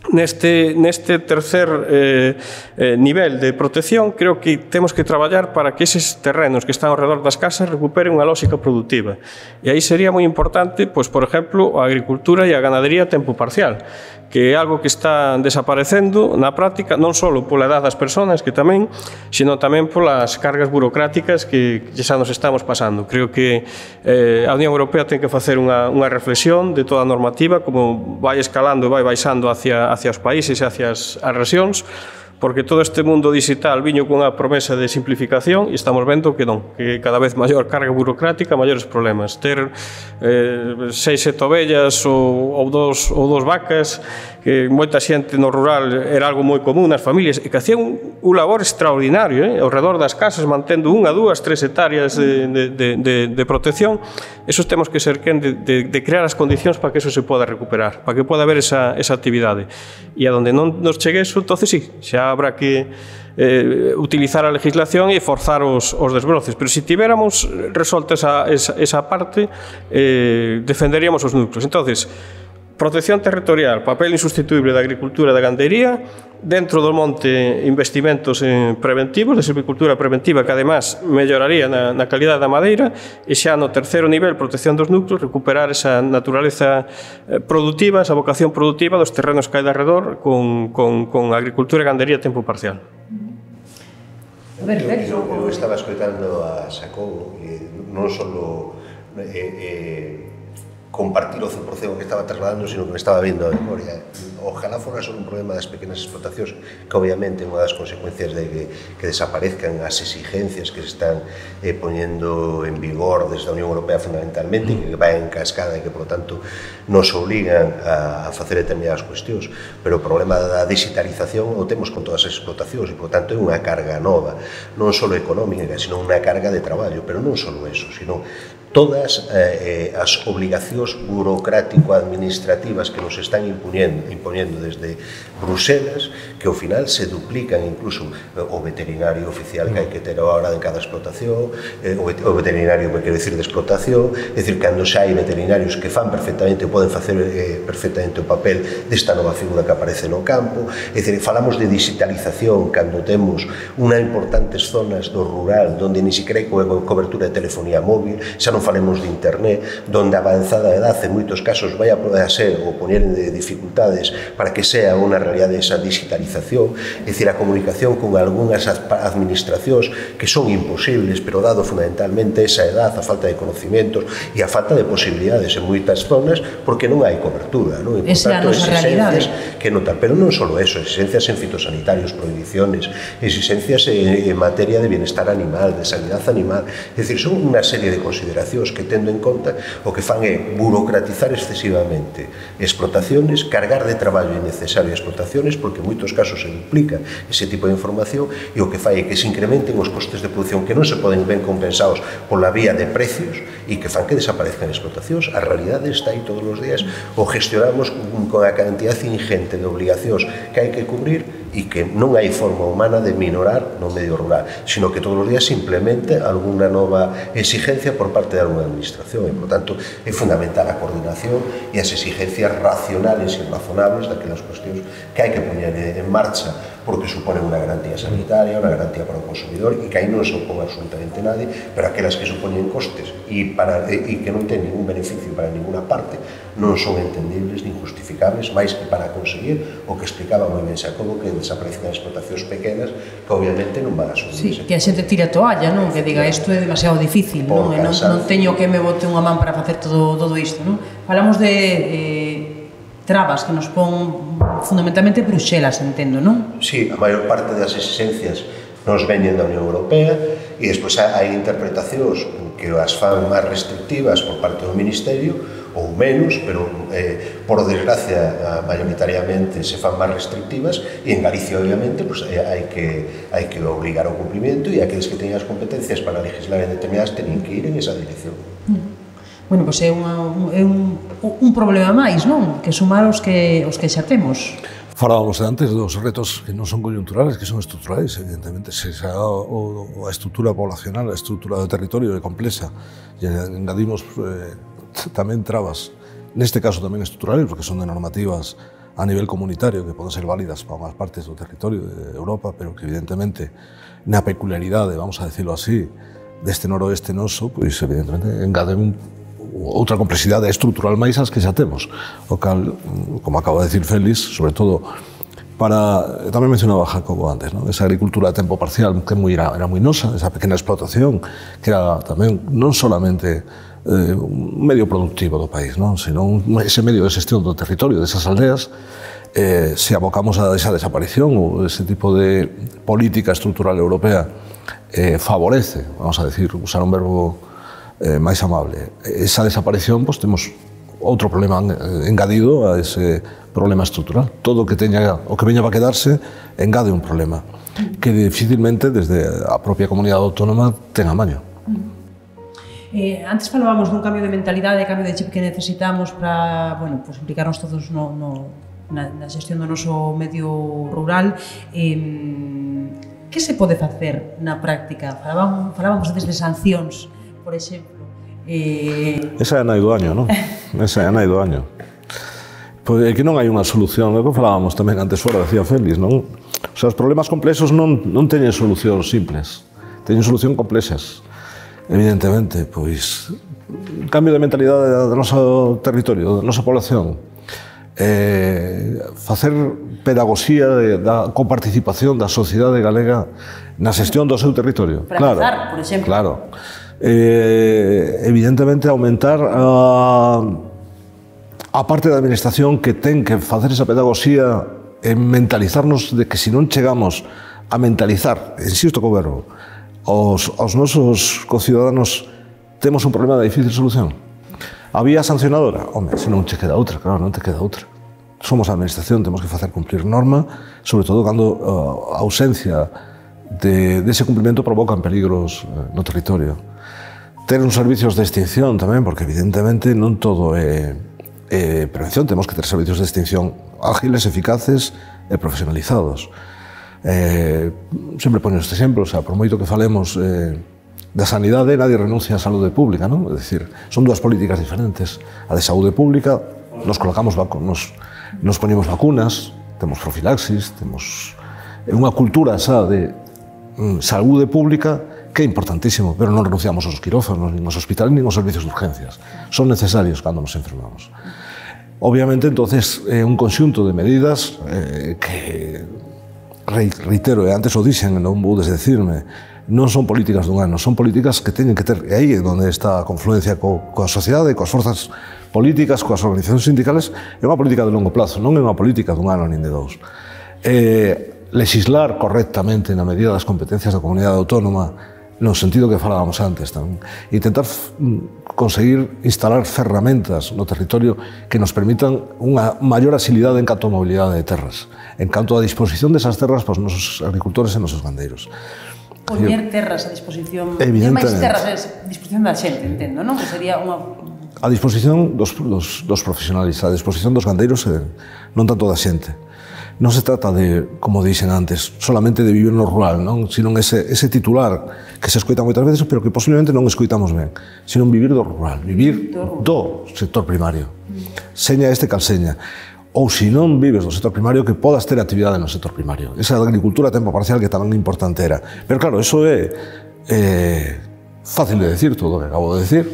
Neste, neste tercer eh, eh, nivel de protección, creo que temos que traballar para que eses terrenos que están ao redor das casas recuperen unha lógica productiva. E aí sería moi importante, pois, por exemplo, a agricultura e a ganadería a tempo parcial, que é algo que está desaparecendo na práctica, non só pola edad das persoas, que tamén, sino tamén polas cargas burocráticas que xa nos estamos pasando. Creo que eh, a Unión Europea ten que facer unha, unha reflexión de toda a normativa, como vai escalando e vai baixando hacia hacia os países e hacia as, as rexións, porque todo este mundo digital viño cunha promesa de simplificación e estamos vendo que non, que cada vez maior carga burocrática, maiores problemas. Ter eh, seis, sete ovellas ou, ou, dos, ou dos vacas, que moita xente no rural era algo moi común nas familias, e que hacían un, un labor extraordinario, eh, ao redor das casas, mantendo unha, dúas, tres hectáreas de, de, de, de, de protección. Esos temos que ser quen de, de, de crear as condicións para que eso se poda recuperar, para que poda haber esa, esa actividade. E a donde non nos chegue eso, entonces sí, xa habrá que eh, utilizar a legislación e forzar os, os desbroces. Pero se si tiveramos resolta esa, esa, esa parte, eh, defenderíamos os núcleos. Entonces, protección territorial, papel insustituible da agricultura e da gandería, dentro do monte investimentos en preventivos, de silvicultura preventiva, que además melloraría na, na calidad da madeira, e xa no terceiro nivel, protección dos núcleos, recuperar esa naturaleza productiva, esa vocación productiva dos terrenos que hai de arredor con, con, con agricultura e gandería a tempo parcial. Perfecto. Eu, eu estaba escoitando a Xacobo, e non só eh, eh, compartir o cen por cento que estaba trasladando, sino que me estaba vindo a memoria. Ojalá fora só un problema das pequenas explotacións, que obviamente unha das consecuencias de que, que desaparezcan as exigencias que se están eh, poñendo en vigor desde a Unión Europea fundamentalmente, que vai en cascada e que, por lo tanto, nos obligan a, a facer determinadas cuestións. Pero o problema da digitalización o temos con todas as explotacións e, por lo tanto, é unha carga nova, non só económica, sino unha carga de traballo, pero non só eso, sino todas eh, as obligacións burocrático-administrativas que nos están impoñendo, impoñendo desde Bruselas, que ao final se duplican incluso o veterinario oficial que hai que ter a hora de cada explotación, eh, o veterinario que quero dicir de explotación, é dicir, cando xa hai veterinarios que fan perfectamente, poden facer eh, perfectamente o papel desta nova figura que aparece no campo, é dicir, falamos de digitalización cando temos unha importantes zonas do rural onde ni siquiera hai co cobertura de telefonía móvil, xa non falemos de internet, donde a avanzada edad en moitos casos vai a poder ser ou poñer de dificultades para que sea unha realidade esa digitalización, é dicir, a comunicación con algunhas administracións que son imposibles, pero dado fundamentalmente esa edad, a falta de conocimientos e a falta de posibilidades en moitas zonas, porque non hai cobertura, non? E, por tanto, exigencias que notar, pero non só eso, exigencias en fitosanitarios, prohibiciones, exigencias en materia de bienestar animal, de sanidade animal, é dicir, son unha serie de consideracións que, tendo en conta, o que fan é burocratizar excesivamente explotaciones, cargar de traballo innecesario explotaciones, porque en moitos casos se duplica ese tipo de información, e o que fai é que se incrementen os costes de produción que non se poden ben compensados pola vía de precios e que fan que desaparezcan explotacións. A realidade está aí todos os días, o gestionamos con a cantidad ingente de obligacións que hai que cubrir e que non hai forma humana de minorar no medio rural, sino que todos os días se implemente algunha nova exigencia por parte de alguna administración, e, por tanto, é fundamental a coordinación e as exigencias racionales e razonables daquelas cuestións que hai que poñer en marcha, porque suponen unha garantía sanitaria, unha garantía para o consumidor, e que aí non se opón absolutamente nadie, pero aquelas que supoñen costes e, para, e que non ten ningún beneficio para ninguna parte, non son entendibles ni justificables, máis que para conseguir o que explicaba moi ben Xacobo, que desaparezcan explotacións pequenas que obviamente non van a subir. Sí, que a xente tira a toalla, non? Que diga, isto é demasiado difícil, non? E non, non teño que me bote unha man para facer todo, todo isto, non? Falamos de eh, trabas que nos pon fundamentalmente Bruxelas, entendo, non? Sí, a maior parte das exigencias nos veñen da Unión Europea e despois hai interpretacións que as fan máis restrictivas por parte do Ministerio ou menos, pero eh, por desgracia mayoritariamente se fan máis restrictivas, e en Galicia obviamente pues, eh, hai, que, hai que obligar ao cumprimento, e aqueles que teñen as competencias para legislar en determinadas teñen que ir en esa dirección. Bueno, pois pues é, unha, é un, un problema máis, non? Que sumar os que, os que xa temos. Falábamos antes dos retos que non son coyunturales, que son estruturais, evidentemente. Se xa o, a estrutura poblacional, a estrutura do territorio é complexa, e engadimos eh, tamén trabas, neste caso tamén estruturales, porque son de normativas a nivel comunitario que poden ser válidas para unhas partes do territorio de Europa, pero que evidentemente na peculiaridade, vamos a decirlo así, deste noroeste noso, pois evidentemente engaden outra complexidade estrutural máis as que xa temos, o cal, como acaba de decir Félix, sobre todo para, tamén mencionaba Jacobo antes, ¿no? Esa agricultura de tempo parcial que moi era, era moi nosa, esa pequena explotación que era tamén non solamente eh, un medio productivo do país, ¿no? Sino un, ese medio de xestión do territorio, desas aldeas, eh, se abocamos a esa desaparición ou ese tipo de política estrutural europea eh, favorece, vamos a decir, usar un verbo eh, máis amable, esa desaparición, pues temos outro problema engadido a ese problema estrutural. Todo o que teña, o que veña para quedarse engade un problema que dificilmente desde a propia comunidade autónoma ten amaño. Eh, antes falábamos dun cambio de mentalidade, de cambio de chip que necesitamos para, bueno, pues implicarnos todos no, no, na, na xestión do noso medio rural. Eh, que se pode facer na práctica? Falábamos, falábamos desde sancións, por exemplo. Eh... Esa é a nai do año, non? Esa é a nai do año. Pois é que non hai unha solución, é o que falábamos tamén antes fora, decía Félix, non? O sea, os problemas complexos non, non teñen solucións simples, teñen solución complexas. Evidentemente, pois, cambio de mentalidade do noso territorio, da nosa población, eh, facer pedagogía de, da coparticipación da sociedade galega na xestión do seu territorio. Para claro, empezar, por exemplo. Claro. eh, evidentemente aumentar a, a parte da administración que ten que facer esa pedagogía en mentalizarnos de que se non chegamos a mentalizar, insisto co verbo, aos, aos nosos conciudadanos temos un problema de difícil solución. A vía sancionadora? Home, se non che queda outra, claro, non te queda outra. Somos a administración, temos que facer cumplir norma, sobre todo cando uh, a ausencia de, de ese cumprimento provocan peligros uh, no territorio. Ter uns servicios de extinción tamén, porque evidentemente non todo é, é prevención, temos que ter servicios de extinción ágiles, eficaces e profesionalizados. Eh, sempre poño este exemplo, o sea, por moito que falemos eh, da sanidade, nadie renuncia á saúde pública, non? É dicir, son dúas políticas diferentes. A de saúde pública, nos colocamos nos, nos poñemos vacunas, temos profilaxis, temos unha cultura xa de mm, saúde pública que é importantísimo, pero non renunciamos aos quirófanos, nin aos hospitales, nin aos servicios de urgencias. Son necesarios cando nos enfermamos. Obviamente, entonces, é un conxunto de medidas eh, que, reitero, e antes o dixen, non vou desdecirme, non son políticas dun ano, son políticas que teñen que ter, e aí é onde está a confluencia co, coa sociedade, coas forzas políticas, coas organizacións sindicales, é unha política de longo plazo, non é unha política dun ano nin de dous. Eh, legislar correctamente na medida das competencias da comunidade autónoma, no sentido que falábamos antes, tamén. Intentar conseguir instalar ferramentas no territorio que nos permitan unha maior asilidade en canto a mobilidade de terras, en canto a disposición desas terras para os nosos agricultores e nosos gandeiros. Poñer terras a disposición, e máis terras a disposición da xente, entendo, non? Que sería unha... A disposición dos, dos, dos profesionais, a disposición dos gandeiros e non tanto da xente. Non se trata de, como dixen antes, solamente de vivir no rural, non? Sino ese, ese titular que se escoita moitas veces, pero que posiblemente non escoitamos ben, sino vivir do rural, vivir do sector primario. Seña este cal seña. Ou se non vives do sector primario, que podas ter actividade no sector primario. Esa agricultura a tempo parcial que tamén importante era. Pero claro, eso é eh, fácil de decir, todo o que acabo de decir.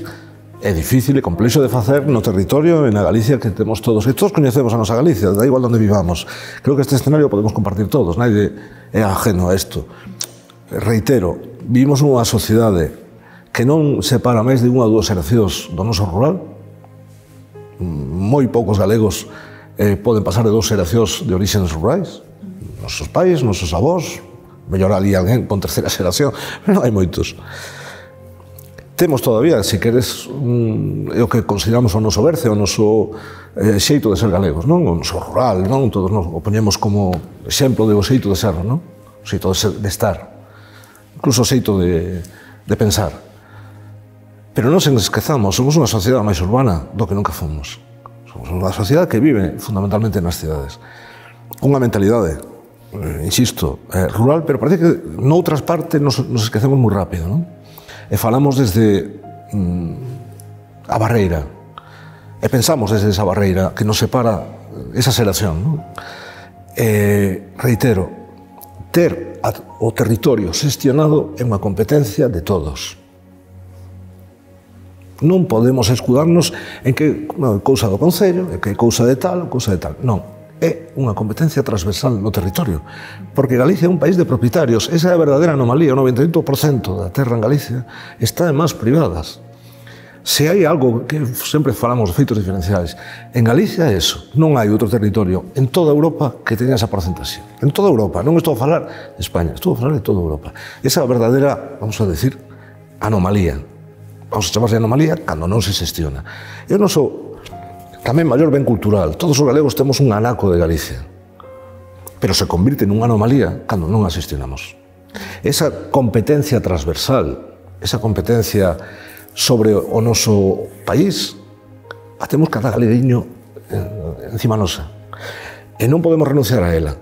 É difícil e complexo de facer no territorio e na Galicia que temos todos. E todos coñecemos a nosa Galicia, da igual onde vivamos. Creo que este escenario podemos compartir todos, nadie é ajeno a isto. Reitero, vivimos unha sociedade que non separa máis de unha ou dúas xeracións do noso rural. Moi poucos galegos Eh, poden pasar de dous xeracións de orixens rurais, nosos pais, nosos avós, mellor ali alguén con terceira xeración, pero non hai moitos. Temos todavía, se queres, un, é o que consideramos o noso berce, o noso eh, xeito de ser galegos, non? O noso rural, non? Todos nos o poñemos como exemplo de o xeito de ser, non? O xeito de, ser, de estar, incluso o xeito de, de pensar. Pero non se esquezamos, somos unha sociedade máis urbana do que nunca fomos. Somos unha sociedade que vive fundamentalmente nas cidades. Unha mentalidade, eh, insisto, eh, rural, pero parece que noutras partes nos, nos esquecemos moi rápido, non? E falamos desde mm, a barreira, e pensamos desde esa barreira que nos separa esa xeración, non? Eh, reitero, ter a, o territorio xestionado é unha competencia de todos. Non podemos escudarnos en que non, é cousa do Concello, é que é cousa de tal, cousa de tal. Non, é unha competencia transversal no territorio. Porque Galicia é un país de propietarios. Esa é a verdadeira anomalía. O noventa e oito por cento da terra en Galicia está en mans privadas. Se hai algo que sempre falamos de feitos diferenciais, en Galicia é eso. Non hai outro territorio en toda Europa que teña esa porcentaxe. En toda Europa. Non estou a falar de España, estou a falar de toda Europa. Esa é a verdadeira, vamos a decir, anomalía. Vamos a chamarse anomalía cando non se xestiona. E o noso tamén maior ben cultural. Todos os galegos temos un anaco de Galicia, pero se convirte nunha anomalía cando non a xestionamos. Esa competencia transversal, esa competencia sobre o noso país, a temos cada galeguiño encima nosa. E non podemos renunciar a ela.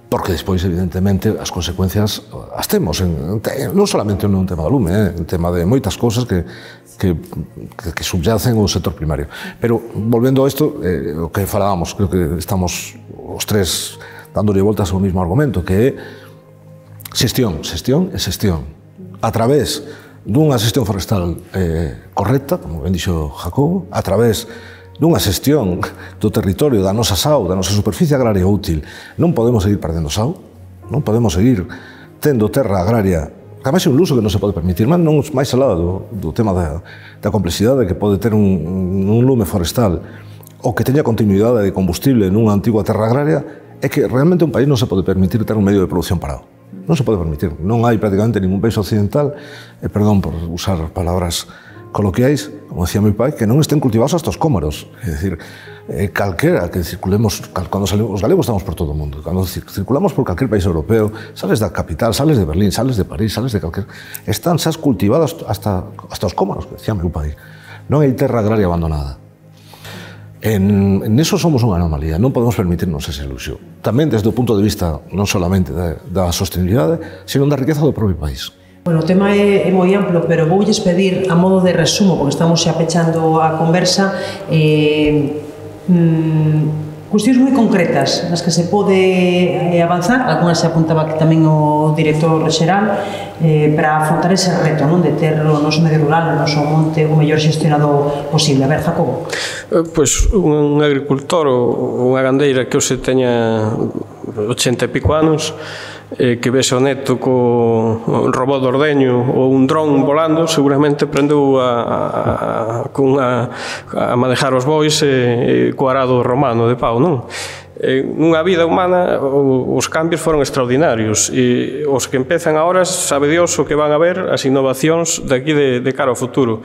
Porque despois, evidentemente, as consecuencias as temos, en, en, non solamente en un tema do lume, eh, en tema de moitas cousas que, que, que, que subyacen o sector primario. Pero, volvendo a isto, eh, o que falábamos, creo que estamos os tres dándole voltas ao mesmo argumento, que é xestión, xestión e xestión. A través dunha xestión forestal eh, correcta, como ben dixo Jacobo, a través dunha xestión do territorio, da nosa S A U, da nosa superficie agraria útil. Non podemos seguir perdendo S A U, non podemos seguir tendo terra agraria ademais é un luso que non se pode permitir, mas non máis alá do, do tema da, da complexidade que pode ter un, un lume forestal ou que teña continuidade de combustible nunha antigua terra agraria, é que realmente un país non se pode permitir ter un medio de produción parado. Non se pode permitir. Non hai prácticamente ningún país occidental, e perdón por usar palabras coloquiais, como decía meu pai, que non estén cultivados hasta os cómoros. É dicir, eh, calquera que circulemos, cando salimos, os galegos estamos por todo o mundo, cando circulamos por calquer país europeo, sales da capital, sales de Berlín, sales de París, sales de calquer... Están xa cultivados hasta, hasta os cómoros, que decía meu pai. Non hai terra agraria abandonada. En, en eso somos unha anomalía, non podemos permitirnos ese ilusión. Tamén desde o punto de vista non solamente da, da sostenibilidade, sino da riqueza do propio país. Bueno, o tema é, é moi amplo, pero voulles pedir a modo de resumo, porque estamos xa pechando a conversa, eh, mm, cuestións moi concretas nas que se pode eh, avanzar, algunhas se apuntaba que tamén o director xeral, eh, para afrontar ese reto, non, de ter o noso medio rural, o noso monte o mellor xestionado posible. A ver, Jacobo. Pois un agricultor ou unha gandeira que hoxe teña ochenta e pico anos, eh, que vese o neto co robot de ordeño ou un dron volando, seguramente aprendeu a, a, a, a manejar os bois e, e co arado romano de pau, non? Eh, nunha vida humana os cambios foron extraordinarios e os que empezan agora sabe Dios o que van a ver as innovacións daqui de, de cara ao futuro.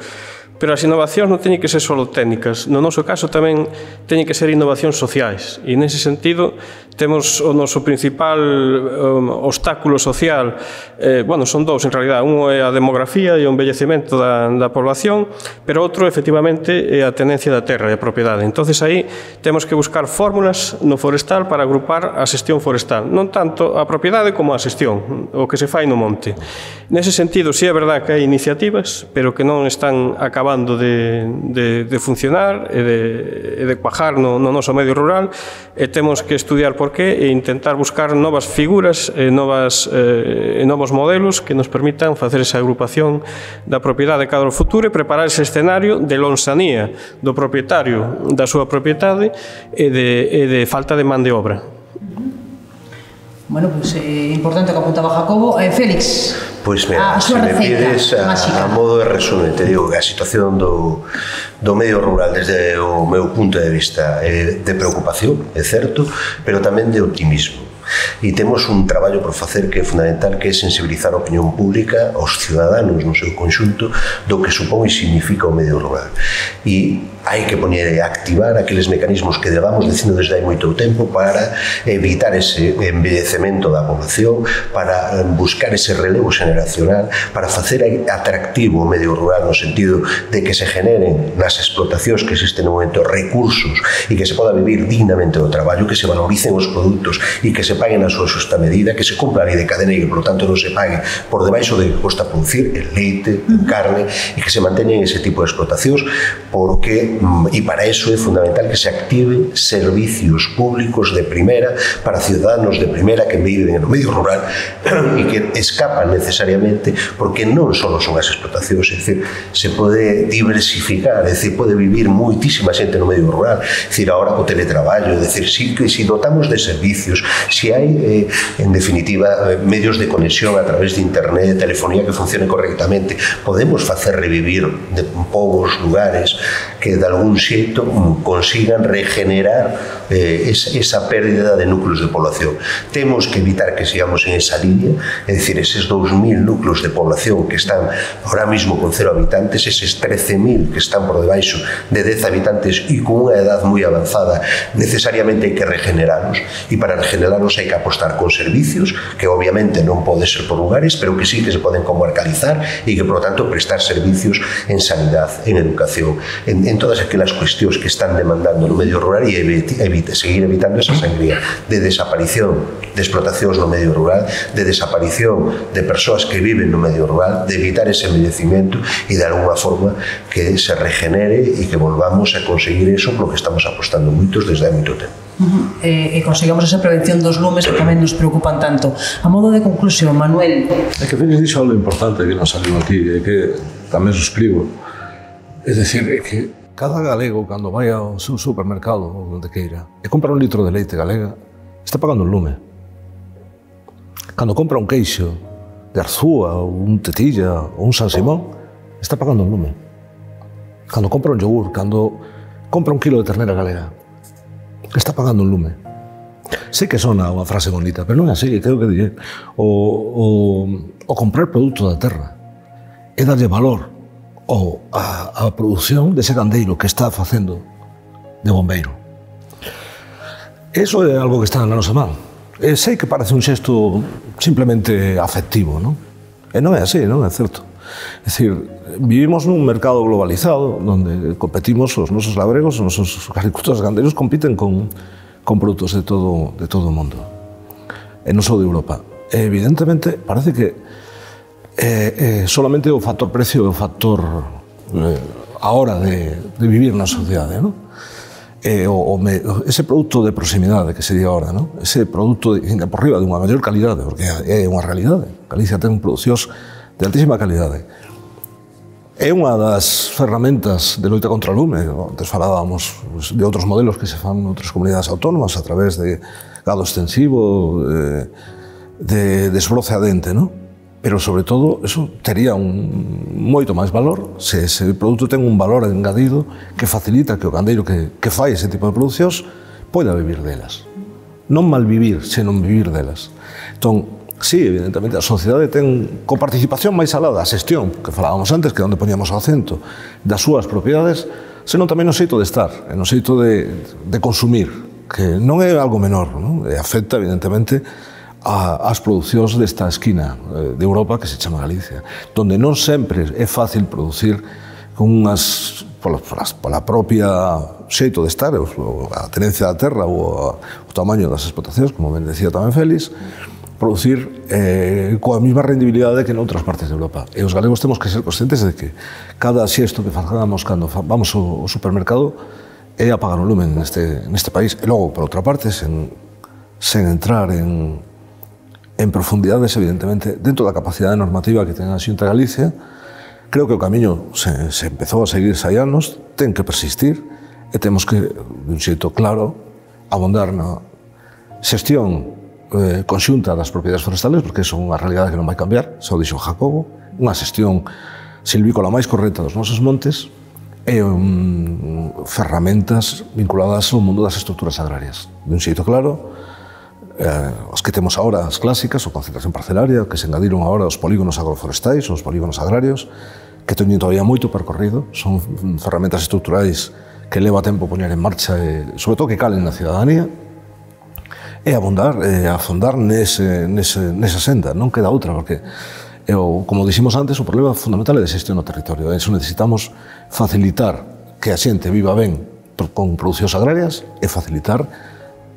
Pero as innovacións non teñen que ser só técnicas, no noso caso tamén teñen que ser innovacións sociais e nese sentido temos o noso principal um, obstáculo social, eh, bueno, son dous en realidad, un é a demografía e o envellecemento da, da población, pero outro efectivamente é a tenencia da terra e a propiedade. Entonces aí temos que buscar fórmulas no forestal para agrupar a xestión forestal, non tanto a propiedade como a xestión, o que se fai no monte. Nese sentido, sí é verdad que hai iniciativas, pero que non están acabando de, de, de funcionar e de, e de cuajar no, no noso medio rural, e temos que estudiar por qué e intentar buscar novas figuras e novas, eh, novos modelos que nos permitan facer esa agrupación da propiedade cada o futuro e preparar ese escenario de lonsanía do propietario da súa propiedade e de, e de falta de man de obra. Bueno, pois pues, é eh, importante o que apuntaba Jacobo. Eh, Félix, pois mira, se me pides a, a modo de resumen, te digo que a situación do, do medio rural desde o meu punto de vista é de preocupación, é certo, pero tamén de optimismo. E temos un traballo por facer que é fundamental, que é sensibilizar a opinión pública, aos ciudadanos no seu conxunto, do que supón e significa o medio rural. E hai que poñer e activar aqueles mecanismos que levamos dicindo desde hai moito tempo para evitar ese envellecemento da población, para buscar ese relevo xeneracional, para facer atractivo o medio rural no sentido de que se generen nas explotacións que existen no momento recursos e que se poda vivir dignamente do traballo, que se valoricen os produtos e que se paguen a súa xusta medida, que se cumpla a lei de cadena e que, por lo tanto, non se pague por debaixo de que costa producir el leite, en carne, e que se manteñen ese tipo de explotacións, porque e para eso é fundamental que se activen servicios públicos de primera para ciudadanos de primera que viven no medio rural e que escapan necesariamente, porque non só son as explotacións, é dicir, se pode diversificar, é dicir, pode vivir moitísima xente no medio rural, é dicir, agora co teletraballo, é dicir, si, si dotamos de servicios, si hai, eh, en definitiva, medios de conexión a través de internet, telefonía que funcione correctamente, podemos facer revivir de povos, lugares que de algún xeito consigan regenerar eh, esa, esa pérdida de núcleos de población. Temos que evitar que sigamos en esa línea, é dicir, eses dous mil núcleos de población que están ahora mismo con cero habitantes, eses trece mil que están por debaixo de dez habitantes e con unha edad moi avanzada, necesariamente hai que regenerarlos, e para regenerarlos hai que apostar con servicios que obviamente non pode ser por lugares, pero que sí que se poden comarcalizar e que, por lo tanto, prestar servicios en sanidade, en educación, en, en todas aquelas cuestións que están demandando no medio rural e evite, evite, seguir evitando esa sangría de desaparición de explotacións no medio rural, de desaparición de persoas que viven no medio rural, de evitar ese envellecimento e de alguna forma que se regenere e que volvamos a conseguir eso polo que estamos apostando moitos desde hai moito tempo. Uh-huh. E, e consigamos esa prevención dos lumes que tamén nos preocupan tanto. A modo de conclusión, Manuel. É que Félix dixo algo importante que nos saliu aquí, é que tamén suscribo. É dicir, é que cada galego, cando vai ao seu supermercado ou onde queira e compra un litro de leite galega, está pagando un lume. Cando compra un queixo de Arzúa, ou un Tetilla, ou un San Simón, está pagando un lume. Cando compra un yogur, cando compra un kilo de ternera galega, está pagando un lume. Sei que sona unha frase bonita, pero non é así, creo que diré. O, o, o comprar produto da terra é darlle valor ou a, a produción dese gandeiro que está facendo de bombeiro. Eso é algo que está na nosa man. E sei que parece un xesto simplemente afectivo, non? E non é así, non é certo. É dicir, vivimos nun mercado globalizado onde competimos, os nosos labregos, os nosos agricultores gandeiros compiten con, con produtos de todo, de todo o mundo. E non só de Europa. E evidentemente parece que eh, eh, solamente o factor precio é o factor eh, a hora de, de vivir na sociedade, non? Eh, o, o me, ese produto de proximidade que sería ahora, ¿no? Ese produto de, por riba de unha maior calidade, porque é unha realidade. Galicia ten producións de altísima calidade. É unha das ferramentas de loita contra o lume. Antes falábamos de outros modelos que se fan en outras comunidades autónomas a través de gado extensivo, de, de desbroce a dente, ¿no? Pero, sobre todo, eso tería un moito máis valor se ese produto ten un valor engadido que facilita que o gandeiro que, que fai ese tipo de producións poida vivir delas. Non malvivir, senón vivir delas. Entón, sí, evidentemente, a sociedade ten coparticipación máis alá da xestión, que falábamos antes, que é onde poníamos o acento, das súas propiedades, senón tamén no xeito de estar, no xeito de, de consumir, que non é algo menor, non? E afecta, evidentemente, as producións desta esquina de Europa que se chama Galicia, donde non sempre é fácil producir con unhas, pola, pola propia xeito de estar, a tenencia da terra ou o tamaño das explotacións, como ben decía tamén Félix, producir eh, coa mesma rendibilidade que en outras partes de Europa. E os galegos temos que ser conscientes de que cada xesto que facamos cando vamos ao supermercado é apagar o lumen neste, neste país. E logo, por outra parte, sen, sen entrar en en profundidades, evidentemente, dentro da capacidade normativa que ten a Xunta de Galicia, creo que o camiño se, se empezou a seguir hai anos, ten que persistir, e temos que, de un xeito claro, abondar na xestión eh, conxunta das propiedades forestales, porque iso é unha realidade que non vai cambiar, xa o dixo Jacobo, unha xestión silvícola máis correcta dos nosos montes, e um, ferramentas vinculadas ao mundo das estruturas agrarias. De un xeito claro, Eh, os que temos agora, as clásicas, o concentración parcelaria, que se engadiron agora os polígonos agroforestais, os polígonos agrarios, que teñen todavía moito percorrido, son ferramentas estruturais que leva tempo poñer en marcha e, sobre todo, que calen na cidadanía, e abondar, e afondar nese, nese, nesa senda, non queda outra, porque, e, o, como diximos antes, o problema fundamental é de xestión no territorio, e iso necesitamos facilitar que a xente viva ben con producións agrarias e facilitar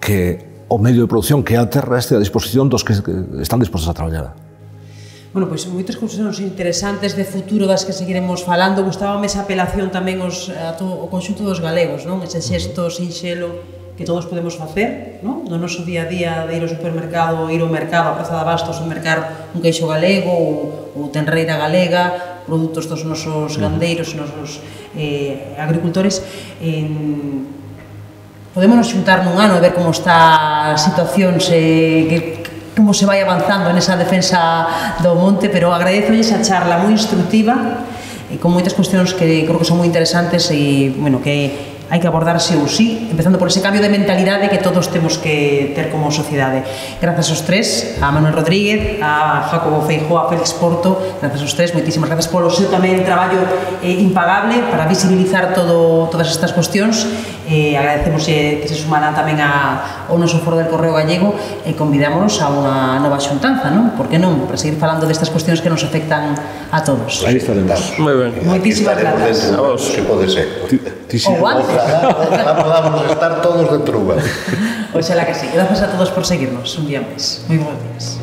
que o medio de produción que é a terra este a disposición dos que están dispostos a traballar. Bueno, pois moitas cuestións interesantes de futuro das que seguiremos falando. Gustábame esa apelación tamén aos, a todo, o conxunto dos galegos, non? Ese xesto sinxelo que todos podemos facer, non? No noso día a día de ir ao supermercado, ir ao mercado, a Praza de Abastos, ou mercar un queixo galego ou, ou tenreira galega, produtos dos nosos gandeiros, nosos eh, agricultores. En, Podémonos xuntar nun ano e ver como está a situación, se, que, como se vai avanzando nesa defensa do monte, pero agradezo esa charla moi instructiva e con moitas cuestións que creo que son moi interesantes e, bueno, que hai que abordar sí ou sí, empezando por ese cambio de mentalidade que todos temos que ter como sociedade. Grazas aos tres, a Manuel Rodríguez, a Jacobo Feijóo, a Félix Porto, grazas aos tres, moitísimas grazas polo seu tamén traballo eh, impagable para visibilizar todo, todas estas cuestións. Eh, agradecemos eh, que se sumaran tamén a, ao noso foro del Correo Gallego e convidámonos a unha nova xuntanza, non? Por que non? Para seguir falando destas cuestións que nos afectan a todos. Aí estaremos. Moi ben. Moitísimas grazas. A vos. Se pode ser. Ou antes. Ojalá podamos estar todos de truba. Oxalá que sí. Grazas a todos por seguirnos un día máis. Moi bons días.